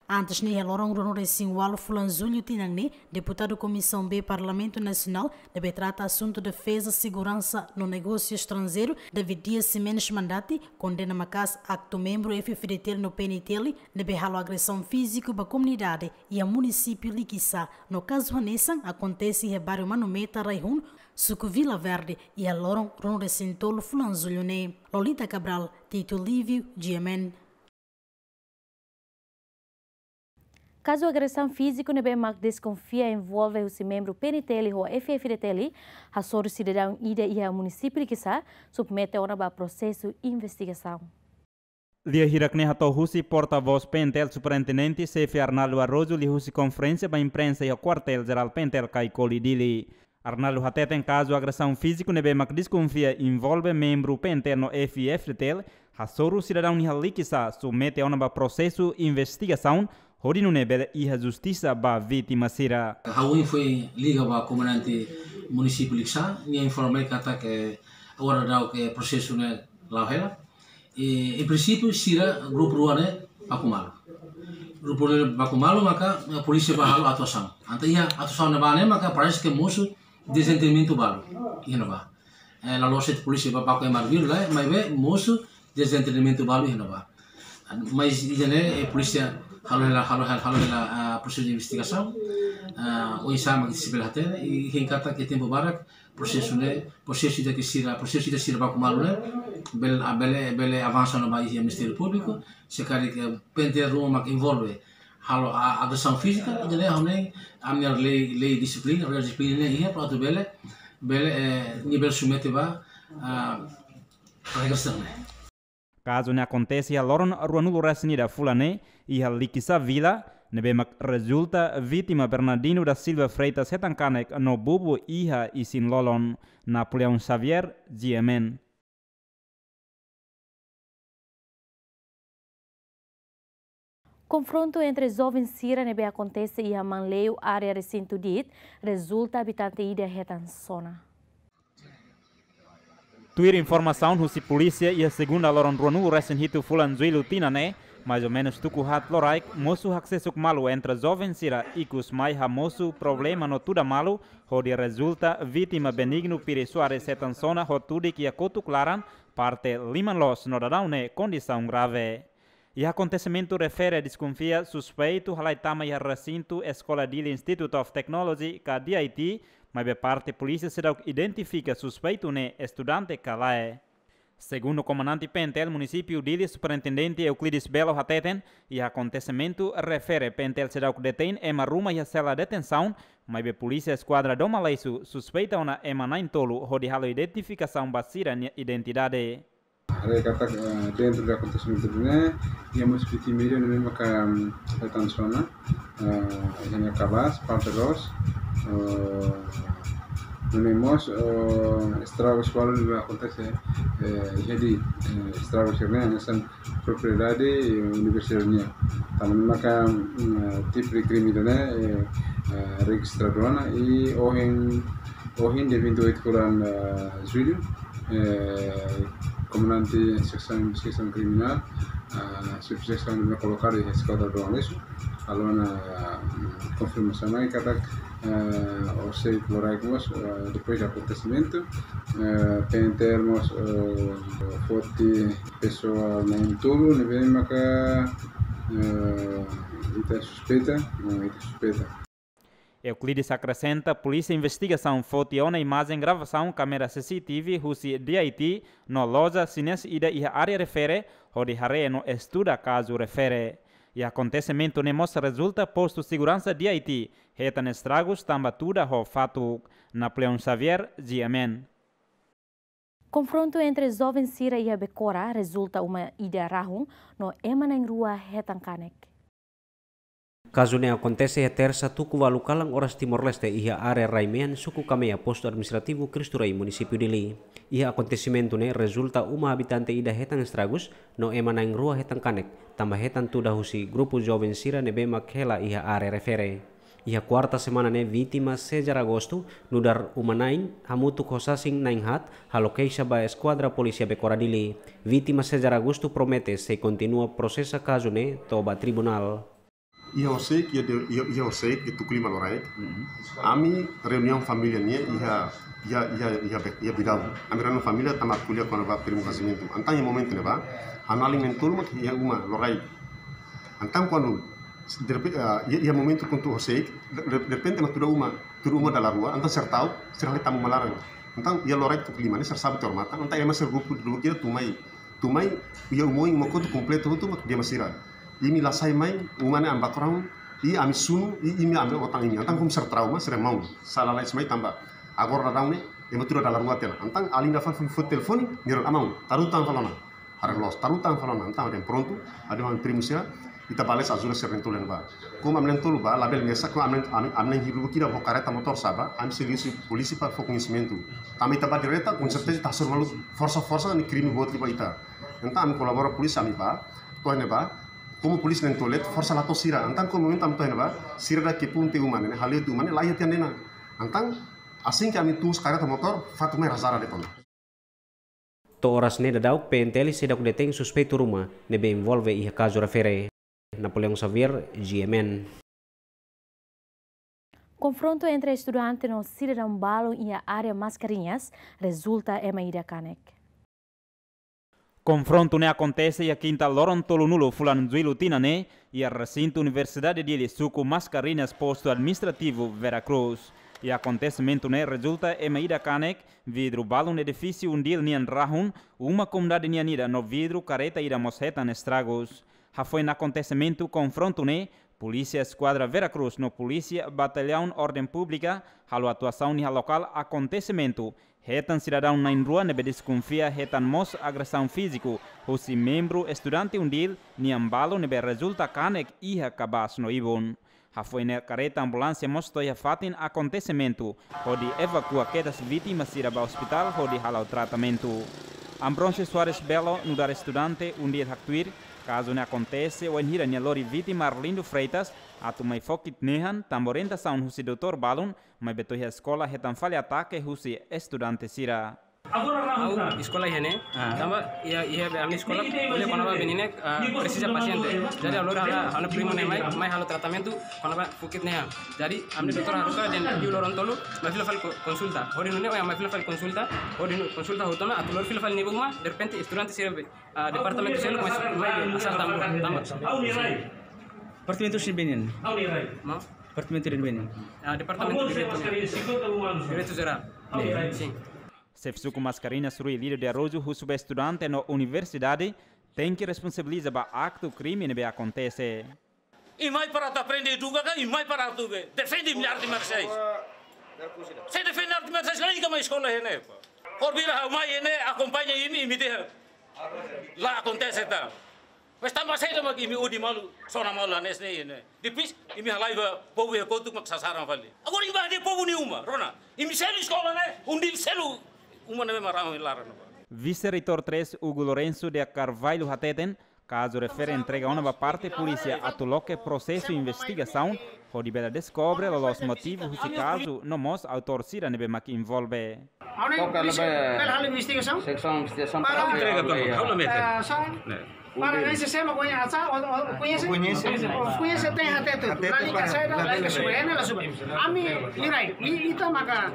Antes ne'e, iha loron ruanulu-resin-ualu fulan Jullu tinan ne'e, deputadu Komisaun B Parlamentu Nasionál ne'ebé trata asuntu defeza seguransa no negósiu estranjeiru, David Dias Ximenes Mandati, kondena maka'as aktu membru F-FDTL no P N T L ne'ebé halo agresaun fíziku ba komunidade iha munisípiu Likisá, no kazu hanesan akontese iha báriu Manu Meta, Raihun, suku Vila Verde, iha loron ruanulu-resin-tolu fulan Jullu ne'e. Lolita Cabral, Tito Lívio, G M N. Kazu agresaun fíziku ne'ebé mak deskonfia envolve husi membru P N T L ho F-FDTL, hasoru sidadaun ida iha munisípiu Likisá, submete ona ba prosesu investigasaun. Lia hirak ne'e hato'o husi portavós P N T L Superintendente Xefe Arnaldo Araújo liuhusi konferénsia ba imprensa iha Kuartél Jerál P N T L Caicoli, Dili. Arnaldo hateten kazu agresaun fíziku ne'ebé mak deskonfia envolve membru P N T L no F-FDTL, hasoru sidadaun iha Likisá, submete ona ba prosesu investigasaun, hodi nune'e bele iha justisa ba vítima sira. Ha'u foin liga ba komandante munisípiu Likisá, nia informa katak agora daudaun prosesu ne'e la'o hela. E, em princípio, sira grupu rua ne'e baku malu. Grupu rua ne'e baku malu, maka, eh, polísia bá halo atuasaun. Entaun iha atuasaun ne'ebá ne'e, maka parese ke mosu dezentendimentu balu iha ne'ebá. Eh, la loos de'it polísia bá baku ema arbiru lae, maibé mosu dezentendimentu balu iha ne'ebá. Mas ida-ne'e, eh, polísia halo hela, halo hela, halo hela, ah, prosesu de investigasaun. Ah, oinsá mak ita sei bele hatene, i hein katak iha tempu badak, prosesu ne'e, prosesu ida ke sira, prosesu ida sira baku malu ne'e, bele, ah, bele, bele avansa ona ba iha Ministériu Públiku, se karik, eh, P N T L ruma mak envolve halo, ah, agresaun fízika, ida-ne'e ha'u hanoin ami-nia lei, lei dixiplina, lei dixiplina ne'e iha para atu bele, bele, eh, nia bele submete ba, ah, regra sira-ne'e. Kazu ne'e akontese iha loron ruanulu-resin-ida fulan ne'e, iha Likisá Vila, ne'ebé mak rezulta vítima Bernardino da Silva Freitas hetan kanek no bubu iha isin-lolon. Napoleão Xavier, G M N. Konfrontu entre joven sira ne'ebé akontese iha Manleu, área resintu Diit, rezulta abitante ida hetan sona. Tuir informasaun husi polísia, iha segunda loron ruanulu-resin-hitu fulan Jullu tinan ne'e, mais ou menus tuku haat loraik, mosu haksesuk malu entre joven sira, ikus mai hamosu problema no tuda malu, hodi rezulta vítima Benigno Pires Soares hetan sona ho tudik iha kotuk laran, parte liman loos no daudaun ne'e kondisaun grave. Iha akontesimentu refere deskonfia suspeitu halai tama iha resintu Eskola Dili Institute of Technology ka D I T, maibé parte polísia seidauk identifika suspeitu ne'e estudante ka lae. Segundu komandante P N T L munisípiu Dili, Superintendente Euclides Belo hateten, iha akontesimentu refere P N T L seidauk detein ema ruma iha sela detensaun, maibé polísia eskuadra Dom Aleixo suspeita ona ema na'in-tolu hodi halo identifikasaun ba sira-nia identidade. Haree katak, eh, dentro de akontesimentu ne'e, iha mós vítima ida ne'ebé maka, mm, hetan sona, eh, iha nia kabas, parte loos, eh, nune'e mós, eh, estragus balu ne'ebé akontese, eh, iha Diit, eh, estragu sira-ne'e hanesan propriedade, eh, universidade nian. Tanba ne'e maka, mm, eh, tipu de krime ida-ne'e, eh, eh, rejistradu ona i ohin, ohin dia vinte e oito fulan, eh, Jullu, eh, komandante seksaun investigasaun kriminál, ah, subseksaun ne'ebé kolokadu iha Eskola Dom Aleixo, halo ona, mm, konfirmasaun mai katak, eh, orsida loraik mós, eh, depois de akontesimentu, eh, P N T L mós, eh, foti pesoál na'in-tolu ne'ebé maka, eh, ita suspeita, eh, ita suspeita. Euclides akresenta, polísia investigasaun foti ona imajen gravasaun kámera C C T V husi D I T no loja xinés ida iha área refere, hodi haree no estuda kazu refere. Iha akontesimentu ne'e mós rezulta postu seguransa D I T hetan estragus tanba tuda ho fatuk. Napoleão Xavier, G M N. Konfrontu entre joven sira iha Becora rezulta uma ida rahun no ema na'in-rua hetan kanek. Kazu ne'e akontese iha Tersa tuku ualu kalan oras Timor-Leste iha área rai-mean suku Kamea, postu administrativu Cristo Rei, munisípiu Dili. Iha akontesimentu ne'e rezulta uma habitante ida hetan estragus, no ema na'in-rua hetan kanek, tanba hetan tuda husi grupu joven sira ne'ebé mak hela iha área refere. Iha kuarta semana ne'e vítima César Agosto, nu'udar uma na'in, hamutuk ho sasin na'in-haat, halo keixa ba Eskuadra Polísia Becora Dili. Vítima César Agosto promete sei kontinua prosesa kazu ne'e to'o ba tribunál. Iha Hoseic, iha de, iha, iha Hoseic, iha tuku lima loraik. Ami reuniaun família nian iha, iha, iha, iha Be-, iha Bidau. Ami reuniaun família tanba ko'alia kona-ba primo kazimentu. Entaun iha momentu ne'ebá, ha'u-nia alin na'in-tolu mak iha uma loraik. Entaun kuandu, derrepe-, ah, iha, iha momentu kuandu Hoseic, de, de, derrepente mak tuda uma, tuda uma dala rua, entaun sira ta'uk, sira halo tama uma laran. Entaun iha loraik tuku lima ne'e sira sabu tiha odamatan, entaun ema sira grupu dulu kira tun mai. Tun mai, iha uma oin, uma kotuk kompletu hotu mak di'ak mai sira. Imi la sai mai, uma ne'e ami baku raan, i ami sunu, i imi ami otan imi. Entaun komu sira trauma, sira maun. Sala lalais mai tanba. Agora daudaun ne'e, ema tuda dala rua tiha ona. Entaun alin ida fali foti telefone, nia rona, "Maun, tarutan fali ona." Haree loos, tarutan fali ona. Entaun ami prontu, ami-nia primu sira, ita bele ajuda sira na'in-tolu ne'ebá. Komu ami na'in-tolu bá, labele mesak, komu ami, ami, ami na'in-rua kira ho kareta motór sá bá, ami sei liuhusi polísia para fó koñesimentu. Tanba ita bá direta, konserteza ita hasoru malu forsa-forsa, nia krime boot liu ba ita. Entaun ami kolabora polísia, ami bá, to'o iha ne'ebá, komu polísia na'in-tolu de'it, forsa la to'o sira. Entaun komu momentu ami to'o iha ne'ebá, sira dala kepun tiha uma ne'e, hale'u tiha uma ne'e, laiha tiha ona. Entaun, asin ke ami tun husi kareta motór, fatuk mai rasara de'it ona. To'o oras ne'e daudaun, P N T L seidauk detein suspeitu ruma ne'ebé envolve iha kazu refere. Napoleão Xavier, G M N. Konfrontu entre estudante no sidadaun balun iha área Mascarenhas rezulta ema ida kanek. Konfrontu ne'e akontese iha kinta loron tolunulu fulan Jullu tinan ne'e, iha resintu Universidade Dili, suku Mascarenhas, postu administrativu Vera Cruz. Iha akontesimentu ne'e rezulta ema ida kanek, vidru balun edifísiu UNDIL nian rahun, uma komunidade nian ida no vidru kareta ida mós hetan estragus. Hafoin akontesimentu konfrontu ne'e, Polísia Eskuadra Vera Cruz no Polísia Batallaun Orden Públika halo atuasaun iha lokál akontesimentu, hetan sidadaun na'in-rua ne'ebé deskonfia hetan mós agresaun fíziku husi membru estudante UNDIL nian balun ne'ebé rezulta kanek iha kabaas no ibun. Hafoin ne'e kareta ambulánsia mós to'o iha fatin akontesimentu, hodi evakua kedas vítima sira ba ospitál hodi hala'o tratamentu. Ambrósio Soares Belo, nu'udar estudante UNDIL, haktuir, kazu ne'e akontese wainhira nia lori vítima Arlindo Freitas atu mai fó kit-nehan, tanba orientasaun husi doutór balun, maibé to'o iha eskola hetan fali atake husi estudante sira. Ha'u eskola iha ne'e, tanba iha, iha be ami eskola, ko'alia kona-ba menina, ah, presiza pasiente. Jadi ha'u lori ha'u-nia, ha'u-nia primu ne'e mai, mai halo tratamentu kona-ba fó kit-nehan. Jadi ami-nia doutór haruka dehan iha loron tolu, mai fila fali ko-, konsulta. Hodi nune'e, oh ya, mai fila fali konsulta. Hodi nune'e konsulta hotu ona, atu lori fila fali nia ba uma, derrepente estudante sira be, ah, departamentu seluk mai, mai asar tanba, tanba. Departamentu sira-nia be nian? Maun? Departamentu sira-nia be nian? Ah, departamentu direitu, direitu jerál. Sin. Xefe suku Mascarenhas, Rui Lírio de Araújo, husu ba estudante no universidade tenke responsabiliza ba aktu krime ne'ebé akontese. Imi mai para atu aprende eduka ka, imi mai para atu be defende imi-nia arte marsiais? Sé defende arte marsiais, la iha mai eskola iha ne'e, pá. Orbira ha'u mai iha ne'e, akompaña imi, imi dehan la akontese tan. Mas tanba saida mak imi odi malu, sona malu hanesan ne'e iha ne'e? Depois, imi halai ba povu iha kotuk mak sasaran fali. Agora imi bá hadi'a povu nia uma, rona. Imi selu eskola ne'e, UNDIL selu uma ne'ebé mak rahun iha laran ne'ebá. Vise-Reitór três, Hugo Lourenço de Carvalho, hateten, kazu refere entrega ona ba parte polísia atu loke prosesu investigasaun, hodi bele deskobre loloos motivu husi kazu no mós autór sira ne'ebé mak envolve. Ha'u-nia polísia bele halo investigasaun. Seksaun investigasaun para, para entrega, para, para, para, eh, sá, para ese sema koñese, o, o, koñese, koñese, koñese, tenke hatete. Hatete. Lalika para, saida, lalika suba, lalika suba. Ami, liurai, i, ita maka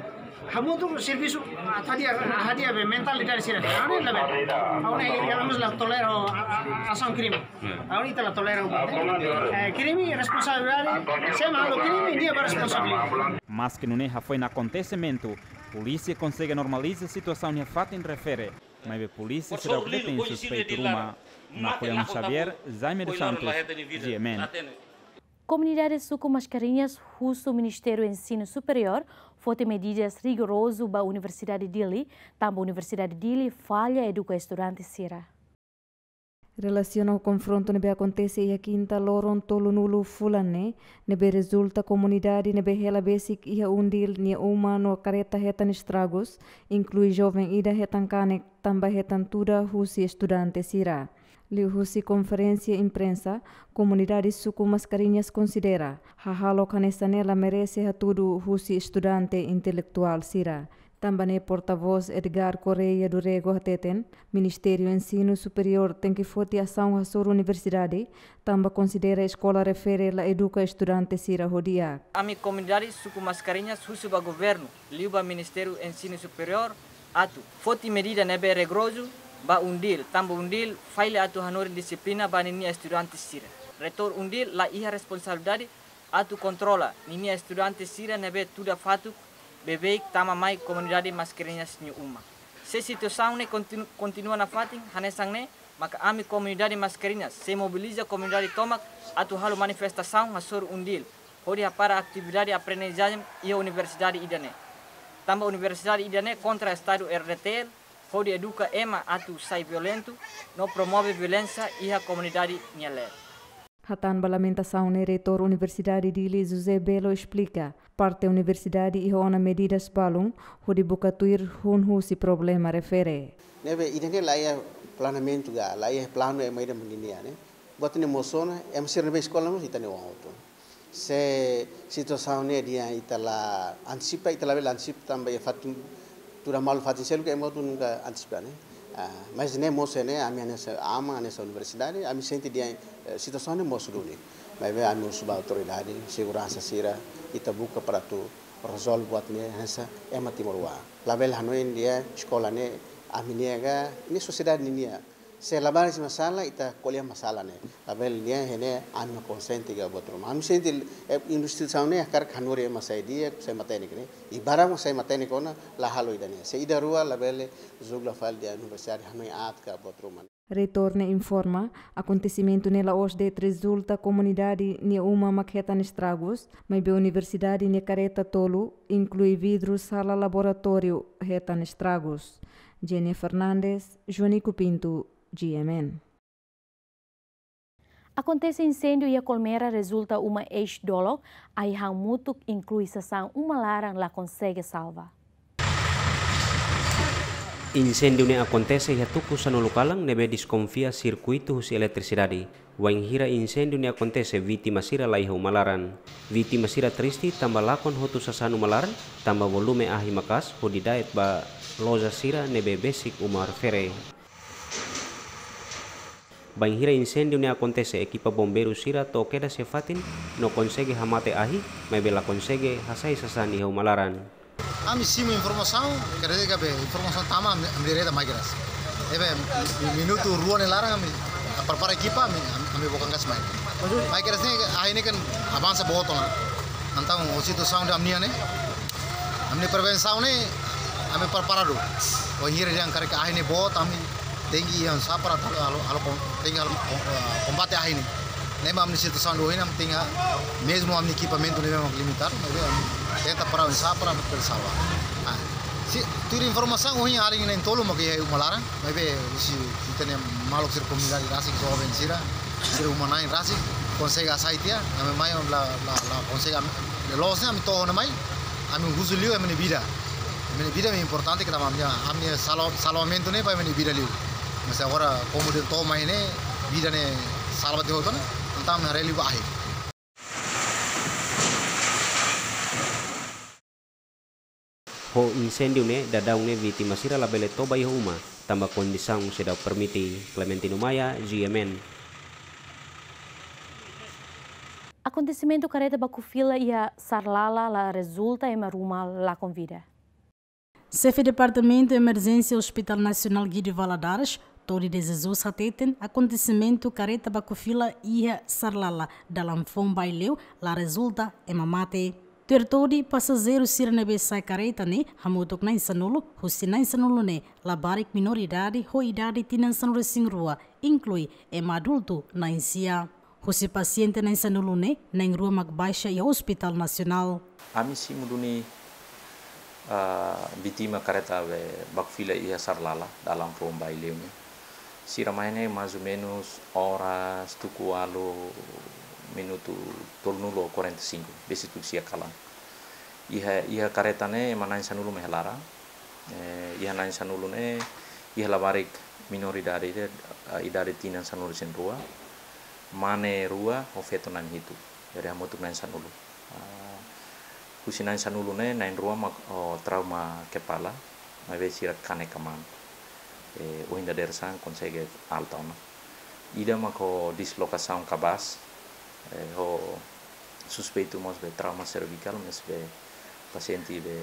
hamutuk servisu, ah, hadi'a, hadi'a be mentalidade sira. Ha'u-nia labele. Ha'u-nia, ha'u la tolera, ah, ah, asaun krime. Ha'u-nia ita la tolera. Eh, krime, responsabilidade, sema halo krime, nia ba responsabilidade. Maske nune'e, hafoin akontesimentu, polísia konsege normaliza situasaun iha fatin refere, maibé polísia seidauk detein suspeitu ruma. Napoleão Xavier, Jaime dos Santos, G M N. Komunidade suku Mascarenhas husu Ministériu Ensinu Superiór foti medidas rigorozu ba Universidade Dili, tanba Universidade Dili falla eduka estudante sira. Relasiona ho konfrontu ne'ebé akontese iha kinta loron tolunulu fulan ne'e, ne'ebé rezulta komunidade ne'ebé hela besik iha Undil nia uma no kareta hetan estragus, inklui joven ida hetan kanek tanba hetan tuda husi estudante sira. Liuhusi konferénsia imprensa, komunidade suku Mascarenhas konsidera hahalok hanesan ne'e la merese hatudu husi estudante intelektuál sira. Tanba ne'e portavós Edgar Correia do Rego hateten, Ministériu Ensinu Superiór tenke foti asaun hasoru universidade, tanba konsidera eskola refere la eduka estudante sira ho di'ak. Ami komunidade suku Mascarenhas husu ba governu, liu ba Ministériu Ensinu Superiór, atu foti medida ne'ebé rigorozu ba Undil, tanba Undil falla atu hanorin dixiplina ba ninia estudante sira. Reitór Undil la iha responsabilidade atu kontrola ninia estudante sira ne'ebé tuda fatuk beibeik tama mai komunidade Mascarenhas nia uma. Se situasaun ne'e kontinu-, kontinua nafatin hanesan ne'e, maka ami komunidade Mascarenhas sei mobiliza komunidade tomak atu halo manifestasaun hasoru Undil, hodi hapara atividade aprendizajen iha universidade ida-ne'e. Tanba universidade ida-ne'e kontra Estadu R D T L, hodi eduka ema atu sai violentu, no promove violénsia iha komunidade nia leet. Hatán ba lamentasaun ne'e, Reitór Universidade Dili, José Belo, esplika, parte universidade iha ona medidas balun hodi buka tuir hun husi problema refere. Ne'ebé ida-ne'e la iha planeamentu ka, la iha planu ema ida mak ninia, ne'e. Buat ne'e mós ona, ema sira ne'ebé eskola mós ita-nia oan hotu. Se situasaun ne'e dehan ita la antisipa, ita labele antisipa tanba iha fatin tuda malu fatin seluk ema hotu nunka antisipa, ne'e. Ah, mas ne'e mós ne'e, ami hanesan aman, hanesan universidade, ami sente dehan, eh, situasaun ne'e mós duni. Maibé ami husu ba autoridade seguransa sira, ita buka para atu rezolve buat ne'e hanesan ema timoroan. Labele hanoin dehan eskola ne'e ami-nia ka, ne'e sosiedade ninia. Se labarik masalah, ita ko'alia masalah ne'e. Labele dehan ne'e ami mak konsiente ka buat ruma. Ami sente, eh, instituisaun ne'e hakarak hanorin ema sai di'ak, sai matenek ne'e. I barak mak sai matenek ona la halo ida-ne'e. Se ida rua labele julga fali dehan universidade hanoin aat ka buat ruma. Reitór ne'e informa, akontesimentu ne'e la'ós de'it rezulta komunidade nia uma mak hetan estragus, maibé universidade nia kareta tolu, inklui vidru sala laboratóriu, hetan estragus. Jenny Fernandes, Jonico Pinto, G M N. Akontese inséndiu iha Colmera rezulta uma eis-dolok, ahi han mutuk inklui sasán uma laran la konsege salva. Inséndiu ne'e akontese iha tuku sanulu kalan ne'ebé deskonfia sirkuitu husi eletrisidade. Wainhira inséndiu ne'e akontese, vítima sira la iha uma laran. Vítima sira triste tanba lakon hotu sasán uma laran, tanba volume ahi maka'as hodi da'et ba loja sira ne'ebé besik uma refere. Bainhira inséndiu ne'e akontese, ekipa bombeiru sira to'o kedas iha fatin no konsege hamate ahi, maibé la konsege hasai sasán iha uma laran. Ami simu informasaun, kere kabe informasaun tama ami, ami direta mai kedas. Ne'ebé mi-, minutu rua nia laran ami prepara ekipa ami, ami, ami bokan gas mai. Mai kedas ne'e ahi ne'e kan avansa boot ona. Entaun situasaun ida ami-nia ne'e, ami-nia prevensaun ne'e, ami preparadu. Wainhira dehan karik ahi ne'e boot, ami tenke iha safra, halo, halo kon-, tenke halo kon-, eh, kombate ahi ne'e. Ne'e mak ami-nia situasaun ida ohin, ami tenke, mezmu ami-nia ekipamentu ne'e memang limitadu, maibé ami tenta para iha safra, ami tenke salva. Ah, se tuir informasaun ohin alin na'in-tolu mak iha uma laran, maibé husi ita-nia maluk sira komunidade rasik, joven sira, sira uma na'in rasik, konsege hasai tiha, ami mai la, la, la konsege, ami, loos ne'e ami to'o ona mai, ami husu liu ema nia vida. Ema nia vida mak importante, ke tanba ami, ami salva-, salvamentu ne'e ba ema nia vida liu. Mas agora, komu dehan to'o mai ne'e, vida ne'e salva tiha hotu ona, entaun ami haree liu ba ahi. Ho inséndiu ne'e, daudaun ne'e vítima sira labele toba iha uma, tanba kondisaun seidauk permite. Clementino Maia, G M N. Akontesimentu kareta baku fila iha Sarlala la rezulta ema ruma lakon vida. Xefe Departamentu Emerjénsia Hospital Nasionál Guido Valadares, Todi de Jesus hateten, akontesimentu kareta baku fila iha Sarlala, dalan foun Baileu, la rezulta ema mate. Tuir Todi, pasajeiru sira ne'ebé sa'e kareta ne'e hamutuk na'in-sanulu, husi na'in-sanulu ne'e labarik menoridade ho idade tinan sanulu-resin-rua, inklui ema adultu na'in-sia. Husi pasiente na'in-sanulu ne'e, na'in-rua mak baixa iha Hospital Nasionál. Ami simu duni, ah, vítima kareta be baku fila iha Sarlala, dalan foun Baileu ne'e. Sira mai ne'e mais ou menus oras tuku ualu minutu tolunulu ou quarenta e cinco, besik tuku sia kalan. Iha, iha kareta ne'e ema na'in sanulu mak iha laran. Eh, iha na'in sanulu ne'e, iha labarik menoridade, eh, idade tinan sanulu-resin-rua, mane rua ho feto na'in-hitu. Jadi hamutuk na'in sanulu. Ah, husi na'in sanulu ne'e, na'in-rua mak ho trauma kepala, maibé sira kanek aman. Eh, ohin dadeer-saan konsege alta ona. Ida mak ho dislokasaun kabas, eh, ho suspeitu mós be trauma servikál, maibé pasiente be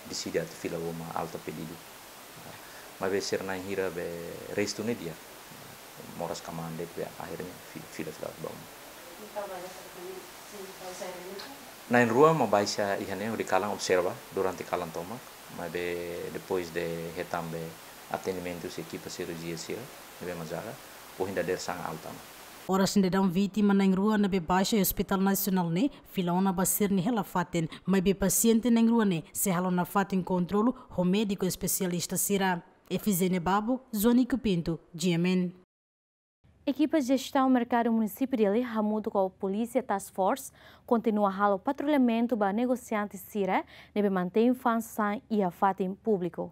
deside atu fila ba uma alta pedidu. Maibé sira na'in hira be restu ne'e di'ak. Moras kmaan de'it be akhirnya fi-, fila, fila ba uma. Na'in-rua mak baixa iha ne'e hodi kalan observa durante kalan tomak, maibé depois de hetan be atendimentu husi ekipa sirurjia sira, ne'ebé mak jaga, ohin dadeer-saan alta ona. Oras ne'e daudaun vítima na'in-rua ne'ebé baixa iha Hospital Nasionál ne'e fila ona ba sira-nia hela-fatin, maibé pasiente na'in-rua ne'e sei halo nafatin kontrolu ho médiku espesialista sira. Efizénia Babo, Joanico Pinto, G M N. Ekipa Jestaun Merkadu Munisípiu Dili hamutuk ho Polísia Task Force kontinua halo patrullamentu ba negosiante sira ne'ebé mantein fa'an sasán iha fatin públiku.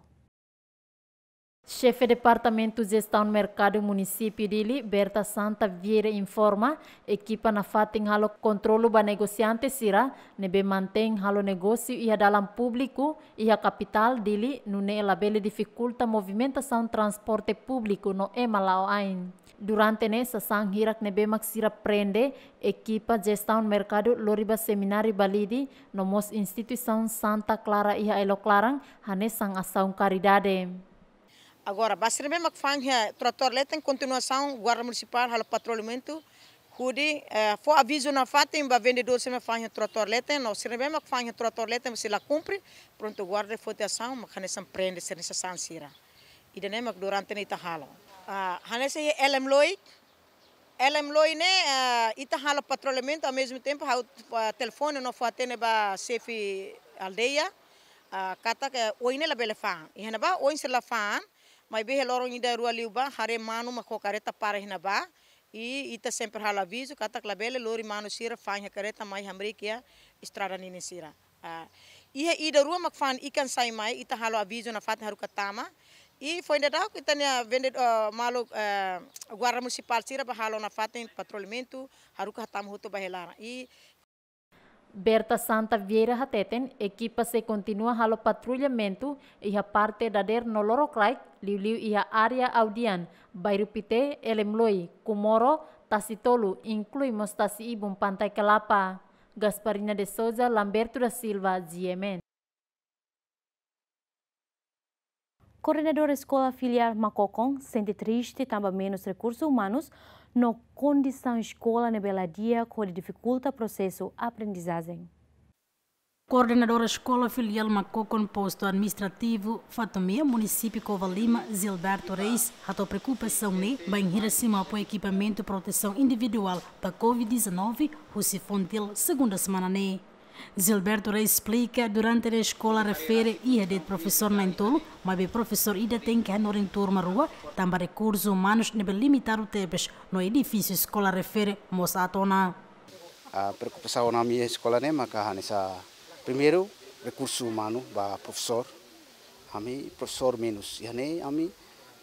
Xefe Departamentu Jestaun Merkadu Munisípiu Dili, Berta Santa Vieira, informa, ekipa nafatin halo kontrolu ba negosiante sira ne'ebé mantein halo negósiu iha dalan públiku iha kapitál Dili, nune'e labele difikulta movimentasaun transporte públiku no ema la'o ain. Durante ne'e sasán hirak ne'ebé mak sira prende, ekipa Jestaun Merkadu lori ba semináriu Balide, no mós instituisaun Santa Clara iha Ailok Laran, hanesan asaun karidade. Agora, ba sira ne'ebé mak fa'an iha trotoar leten, kontinuasaun, Guarda Munisipál halo patrullamentu, hodi, eh, fó avizu nafatin ba vendedór sira ne'ebé fa'an iha trotoar leten, no sira ne'ebé mak fa'an iha trotoar leten, se la kumpre, prontu, guarda foti asaun, mak hanesan prende sira-nia sasán sira. Ida-ne'e mak durante ne'e ita halo. Ah, hanesan iha L M Loi, L M Loi ne'e, ah, ita halo patrullamentu, ao mesmo tempo, ha'u, ah, telefone no fó-hatene ba xefe aldeia, ah, katak, eh, oin ne'e labele fa'an. Iha ne'ebá, oin sira la fa'an, maibé iha loron ida rua liubá, haree manu mak ho kareta para iha ne'ebá, i ita sempre halo avizu, katak labele lori manu sira fa'an iha kareta mai hamriik iha estrada ninin sira. Ah, iha ida rua mak fa'an ikan sai mai, ita halo avizu nafatin haruka tama. I foin daudauk ita-nia vende, eh, maluk, eh, Guarda Munisipál sira bá halo nafatin patrullamentu, haruka hatama hotu ba iha laran. I Berta Santa Vieira hateten, ekipa sei kontinua halo patrullamentu iha parte dadeer no lorokraik, liuliu iha área Audian, Bairru Pité, L M Loi, Comoro, Tasi Tolu, inklui mós Tasi Ibun, Pantai Kelapa. Gasparina de Souza, Lamberto da Silva, G M N. Koordenadór Eskola Filiál Makokon sente triste tanba menus rekursu umanus no kondisaun eskola ne'ebé la di'ak hodi difikulta prosesu aprendizajen. Koordenadór Eskola Filiál Makokon, Postu Administrativu Fatumea, Munisípiu Covalima, Gilberto Reis, hato'o preokupasaun ne'e bainhira simu apoiu ekipamentu protesaun individuál ba covid dezanove husi Fontil, segunda semana ne'e. Gilberto Reis esplika, durante ne'e eskola refere iha de'it profesór na'in-tolu, maibé profesór ida tenke hanorin turma rua, tanba rekursu umanus ne'ebé limitadu tebes, no edifísiu eskola refere mós aat ona. Ah, preokupasaun ami eskola ne'e maka hanesan, primeiru, rekursu umanu ba profesór. Ami profesór menus. Iha ne'e ami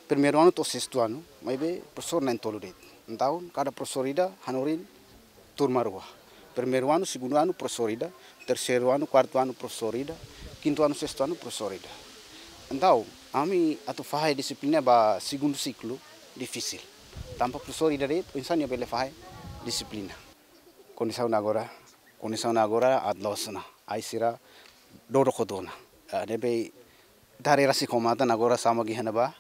primeiru anu to'o sestu anu, maibé profesór na'in-tolu de'it. Entaun, kada profesór ida hanorin turma rua. Primeiru anu, segundu anu, profesór ida. Terseiru anu, kuartu anu, profesór ida. Kintu anu, sestu anu, profesór ida. Entaun, ami atu fahe dixiplina ba segundu siklu, difisil. Tanba profesór ida de'it, oinsá nia bele fahe dixiplina. Kondisaun agora, kondisaun agora aat loos ona. Ai sira dodok hotu ona. Ah, ne'ebé ita haree rasik ho matan agora sama iha ne'ebá.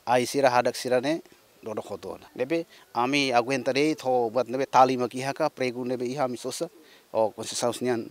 Ai sira hadak sira ne'e dodok hotu ona. Ne'ebé ami aguenta de'it ho buat ne'ebé tali mak iha ka, pregu ne'ebé iha ami sosa. Ho Conceição nian,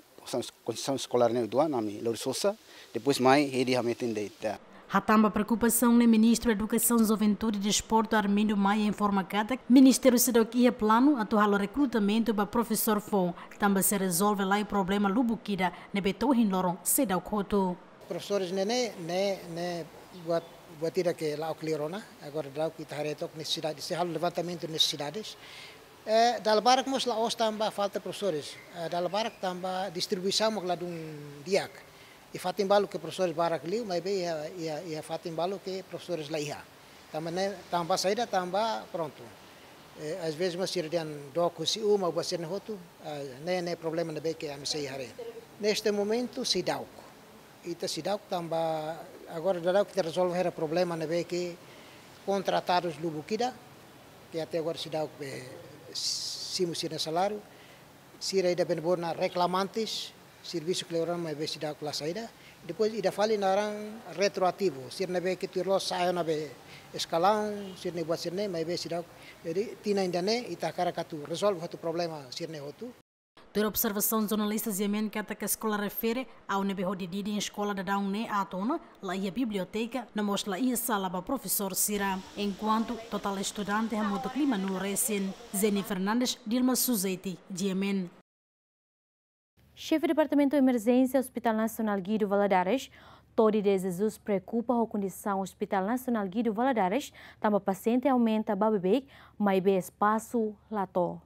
Conceição eskolár ne'e uitoan ami lori sosa. Depois mai hedi hametin de'it. Hatán ba preokupasaun ne'e, Ministru Edukasaun, Juventude, Desportu, Armindo Maia, informa katak ministériu seidauk iha planu atu halo rekrutamentu ba profesór foun, tanba sei rezolve lai problema lubuk ida ne'ebé to'o ohin loron seidauk hotu. Profesores ne'e, ne'e, ne'e, ne'e buat Buat ida ke la'o kleur ona, agora daudaun ita haree took nesesidade, sei halo levantamentu nesesidades. Eh, dala barak mós la'ós tanba falta profesores, eh, dala barak tanba distribuisaun mak ladún di'ak. Iha fatin balu ke profesores barak liu, maibé iha, iha, iha fatin balu ke profesores la iha. Tanba ne'e, tanba saida, tanba prontu. Eh, às vezes mós sira dehan dook husi uma, ou buat sira-ne'e hotu, eh, ne'e, ne'e problema ne'ebé ke ami sei haree. Neste momento, seidauk. Ita seidauk tanba agora daudaun ita rezolve hela problema ne'ebé ke kontratadus lubuk ida, ke até agora seidauk be simu sira-nia saláriu, sira ida bene bona reklamantes, servisu kleur ona maibé seidauk la sai ida. Depois ida fali naran retroativu, sira ne'ebé ke tuir loos sa'e ona be eskalaun, sira-ne'e buat sira-ne'e, maibé seidauk. Jadi, tinan ida-ne'e, ita hakarak atu rezolve hotu problema sira-ne'e hotu. Tuir observasaun jornalista G M N katak eskola refere, ha'u ne'ebé hodi didin eskola daudaun ne'e atu ona, la iha biblioteka, no mós la iha sala ba profesór sira. Enkuantu totál estudante hamutuk limanulu resin. Jenny Fernandes, Dilma Suzeti, G M N. Xefe Departamentu Emerjénsia Hospital Nasionál Guido Valadares, Todi de Jesus preokupa ho kondisaun Hospital Nasionál Guido Valadares, tanba pasiente aumenta ba beibeik, maibé espasu la to'o.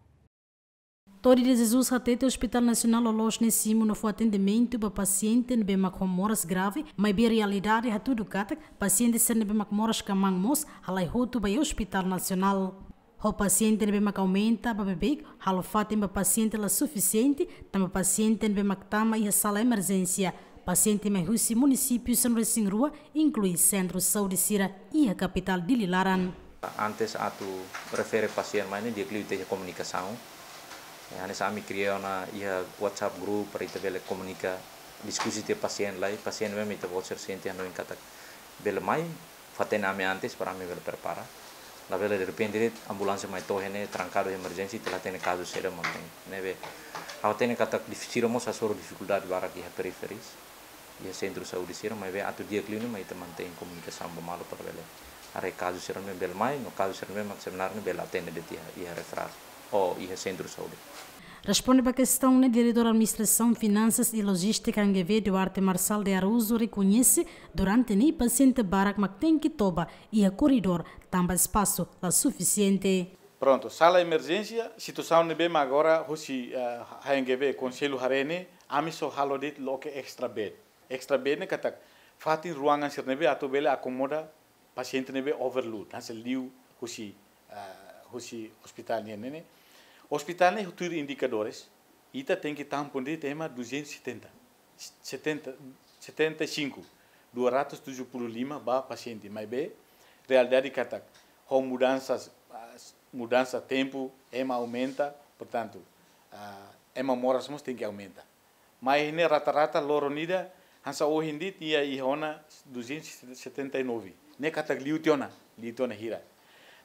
Todi de Jesus hatete Hospital Nasionál loloos ne'e simu no fó atendimentu ba pasiente ne'ebé mak ho moras grave, maibé realidade hatudu katak pasiente sira ne'ebé mak moras kmaan mós halai hotu ba iha Hospital Nasionál. Ho pasiente ne'ebé mak aumenta ba beibeik, halo fatin ba pasiente la sufisiente, tanba pasiente ne'ebé mak tama iha sala emerjénsia, pasiente mai husi munisípiu sanulu-resin-rua, inklui sentru saúde sira iha kapitál Dili laran. Antes atu refere pasiente mai ne'e di'ak liu ita iha komunikasaun. Ya, hanesan ami kria ona iha WhatsApp group para ita bele komunika, diskusi tiha pasiente lai, pasiente mós ita-boot sira sente hanoin katak bele mai, fó-hatene ami antes para ami bele prepara. Labele derrepente de'it ambulánsia mai to'o iha ne'e trankadu emerjénsia, ita la hatene kazu saida mak iha ne'ebé. Ha'u hatene katak dif-, sira mós hasoru difikuldade barak iha periferias, iha sentru saúde sira, maibé atu di'ak liu ne'e mai ita mantein komunikasaun ba malu para bele haree kazu sira ne'ebé bele mai, no kazu sira ne'ebé mak sebenarnya bele atende de'it iha, iha referral ou iha sentru saúde. Responde ba kestaun ne'e, Diretór Administrasaun, Finansas i Lojístika N G V, Duarte Marçal de Araújo, rekoñese durante ne'e pasiente barak mak tenke toba iha koridór tanba espasu la sufisiente. Prontu, sala emerjénsia, situasaun ne'ebé mak agora husi, eh, H N G V, Konsellu haree ne'e, ami só halo de'it loke extra bed. Extra bed ne'e katak fatin ruangan sira ne'ebé atu bele akomoda pasiente ne'ebé overload, hanesan liu husi, ah, husi ospitál nian ne'e. Ospitál ne'e tuir indikadores, ita tenke tampon de'it ema duzentos e setenta, setenta, setenta e cinco, dua ratus tujuh puluh lima ba pasiente, maibé realidade katak ho mudansa, ah, mudansa tempu, ema aumenta, portantu, ah, ema moras mós tenke aumenta. Mai ne'e rata-rata loron ida, hanesan ohin de'it iha, iha ona duzentos e setenta e nove. Ne'e katak liu tiha ona, liu tiha ona hira.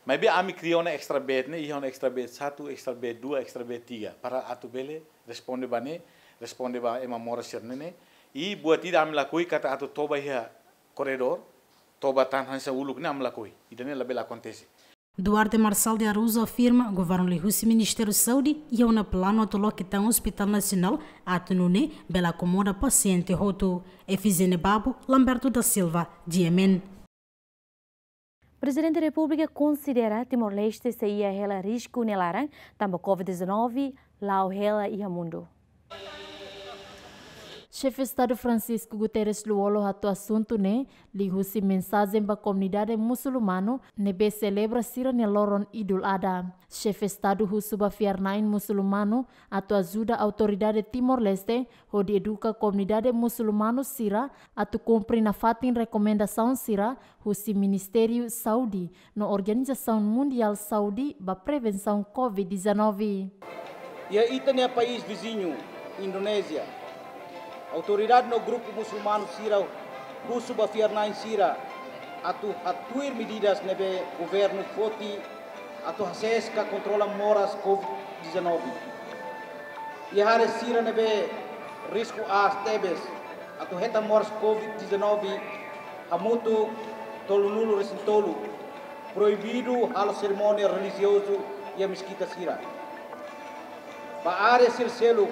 Maibé ami kria ona extra bed ne'e, iha ona extra bed satu, extra bed dua, extra bed tiga. Para atu bele responde ba ne'e, responde ba ema moras sira-ne'e ne'e. I buat ida ami lakohi katak atu toba iha koridór, toba tan hanesan uluk ne'e ami lakohi. Ida-ne'e labele akontese. Duarte Marçal de Araújo afirma, governu liuhusi Ministériu Saúde iha ona planu atu loke tan Hospital Nasionál atu nune'e bele akomoda pasiente hotu. Efigénia Babo, Lamberto da Silva, G M N. Prezidente Repúblika konsidera Timor-Leste sei iha hela risku nia laran tanba covid dezanove la'o hela iha mundu. Xefe Estadu Francisco Guterres Lú-Olo hato'o asuntu ne'e liuhusi mensajen ba komunidade musulmanu ne'ebé selebra sira-nia loron Idul Adha. Xefe Estadu husu ba fiar-na'in musulmanu atu ajuda autoridade Timor-Leste hodi eduka komunidade musulmanu sira atu kumpre nafatin rekomendasaun sira husi Ministériu Saúde no Organizasaun Mundiál Saúde ba prevensaun covid dezanove. Iha ita-nia país viziñu, Indonézia, autoridade no grupu musulmanu sira husu ba fiar-na'in sira atu hatuir medidas ne'ebé governu foti atu hasees ka kontrola moras covid dezanove. Iha área sira ne'ebé risku aas tebes atu hetan moras covid dezanove, hamutuk tolunulu-resin-tolu, proibidu halo serimónia relijiozu iha meskita sira. Ba área sira seluk,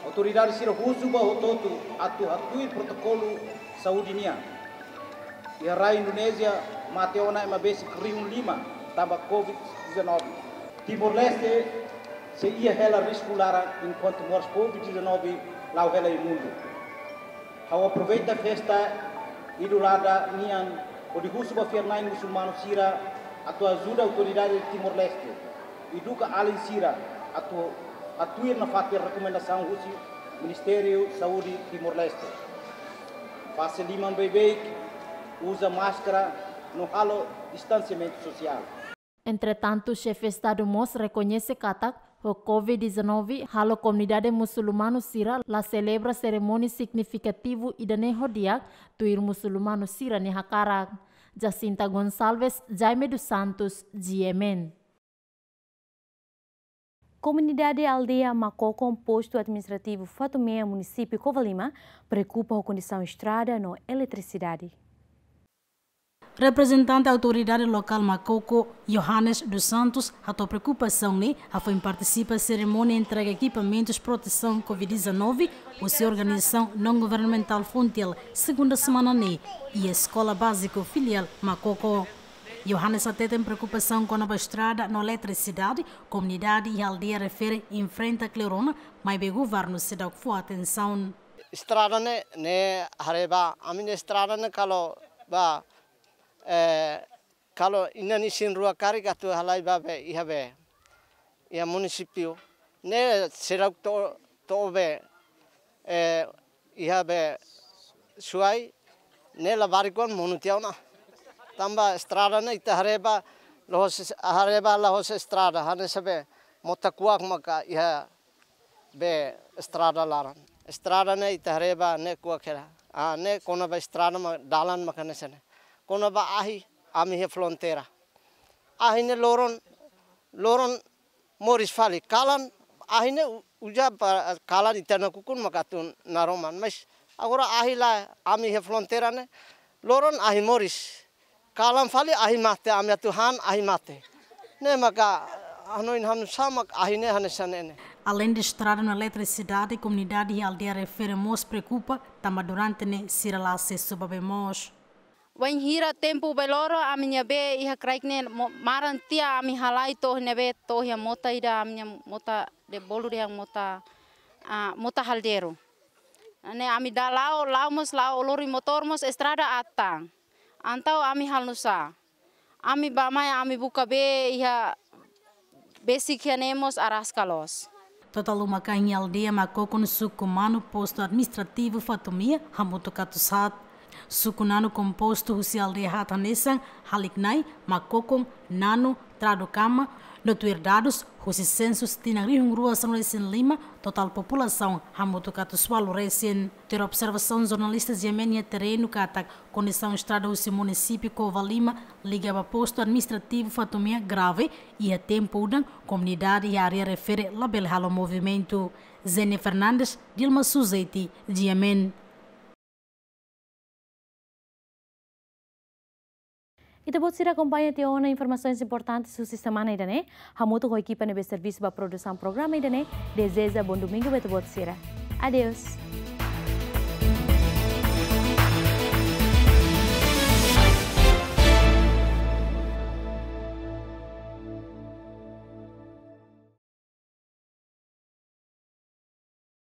autoridade sira husu ba hotu-hotu atu hatuir protokolu saúde nian. Iha rai Indonézia mate ona ema besik rihun lima tanba Covid dezanove. Timor-Leste sei iha hela risku laran enkuantu moras Covid dezanove la'o hela iha mundu. Ha'u aproveita festa Idul Adha nian hodi husu ba fiar-na'in musulmanu sira atu ajuda autoridade Timor-Leste, eduka alin sira atu, atu tuir nafatin rekomendasaun husi Ministériu Saúde Timor-Leste. Fase liman beibeik, uza máskara no halo distansiamentu sosiál. Entretantu, xefe Estadu mós rekoñese katak, ho Covid dezanove, halo komunidade musulmanu sira la selebra serimónia signifikativu ida-ne'e ho di'ak, tuir musulmanu sira-nia hakarak. Jacinta Gonçalves, Jaime dos Santos, G M N. Komunidade aldeia Makokon, postu administrativu Fatumea, munisípiu Covalima, preokupa ho kondisaun estrada no eletrisidade. Reprezentante autoridade lokál Makoko, Johannes dos Santos, hato'o preokupasaun ne'e hafoin partisipa serimónia entrega ekipamentus protesaun Covid dezanove husi organizasaun non-governamentál Fontiel, segunda semana ne'e, iha Eskola Báziku Filiál Makoko. Johannes hateten preokupasaun kona-ba estrada no eletrisidade, komunidade iha aldeia refere enfrenta kleur ona, maibé governu seidauk fó atensaun. Estrada ne'e, ne'e haree ba, ami-nia estrada ne'e kalau ba, eh, kalau inan isin rua karik atu halai ba be, iha be, iha munisípiu. Ne'e seidauk to'o, to'o be, eh, iha be suai, ne'e labarik kuan monu tiha ona. Tanba estrada ne'e ita haree ba, la'ós, haree ba la'ós estrada, hanesan be mota kuak maka iha be estrada laran. Estrada ne'e ita haree ba ne'e kuak hela. Ah, ne'e kona-ba estrada mak dalan mak hanesan ne'e. Kona-ba ahi, ami iha fronteira. Ahi ne'e loron, loron moris fali. Kalan, ahi ne'e u-, uza ba kalan ita nakukun maka atu naroman. Mas agora ahi lae, ami iha fronteira ne'e, loron ahi moris. Kalan fali ahi mate, ami atu han ahi mate. Ne'e maka hanoin ha'u-nia sama ahi ne'e hanesan ne'e. Aleinde estrada no eletrisidade, komunidade iha aldeia refere mós preokupa, tanba durante ne'e sira la asesu ba bee moos. Wainhira tempu bee loron, ami-nia bee iha kraik ne'e mo-, maran tiha, ami halai to'o ne'ebé, to'o iha mota ida, ami-nia mota de bolu de mota, ah, mota haldeiru. Ne'e ami dala la'o, la'o mós la'o lori motór mós estrada atan. Entaun ami halo nu'usá? Ami bá mai, ami buka bee iha besik iha ne'e mós araska loos. Totál uma-kain iha aldeia Makokon, suku Manu, postu administrativu Fatumea, hamutuk atus haat. Suku Nanu kompostu husi aldeia haat hanesan Haliknai, Makokon, Nanu, Tradu Kama, no tuir dadus husi sensus tinan rihun rua sanulu-resin-lima, totál populasaun hamutuk atus ualu resin. Tuir observasaun jornalista G M N iha terrenu katak, kondisaun estrada husi munisípiu Covalima liga ba postu administrativu Fatumea grave, iha tempu udan komunidade iha área refere labele halo movimentu. Zene Fernandes, Dilma Suzeti, G M N. Ita-boot sira akompaña tiha ona informasaun importante husi semana ida-ne'e. Hamutuk ho ekipa ne'ebé servisu ba produsaun programa ida-ne'e, dezeja bom domingu ba ita-boot sira. Adeus.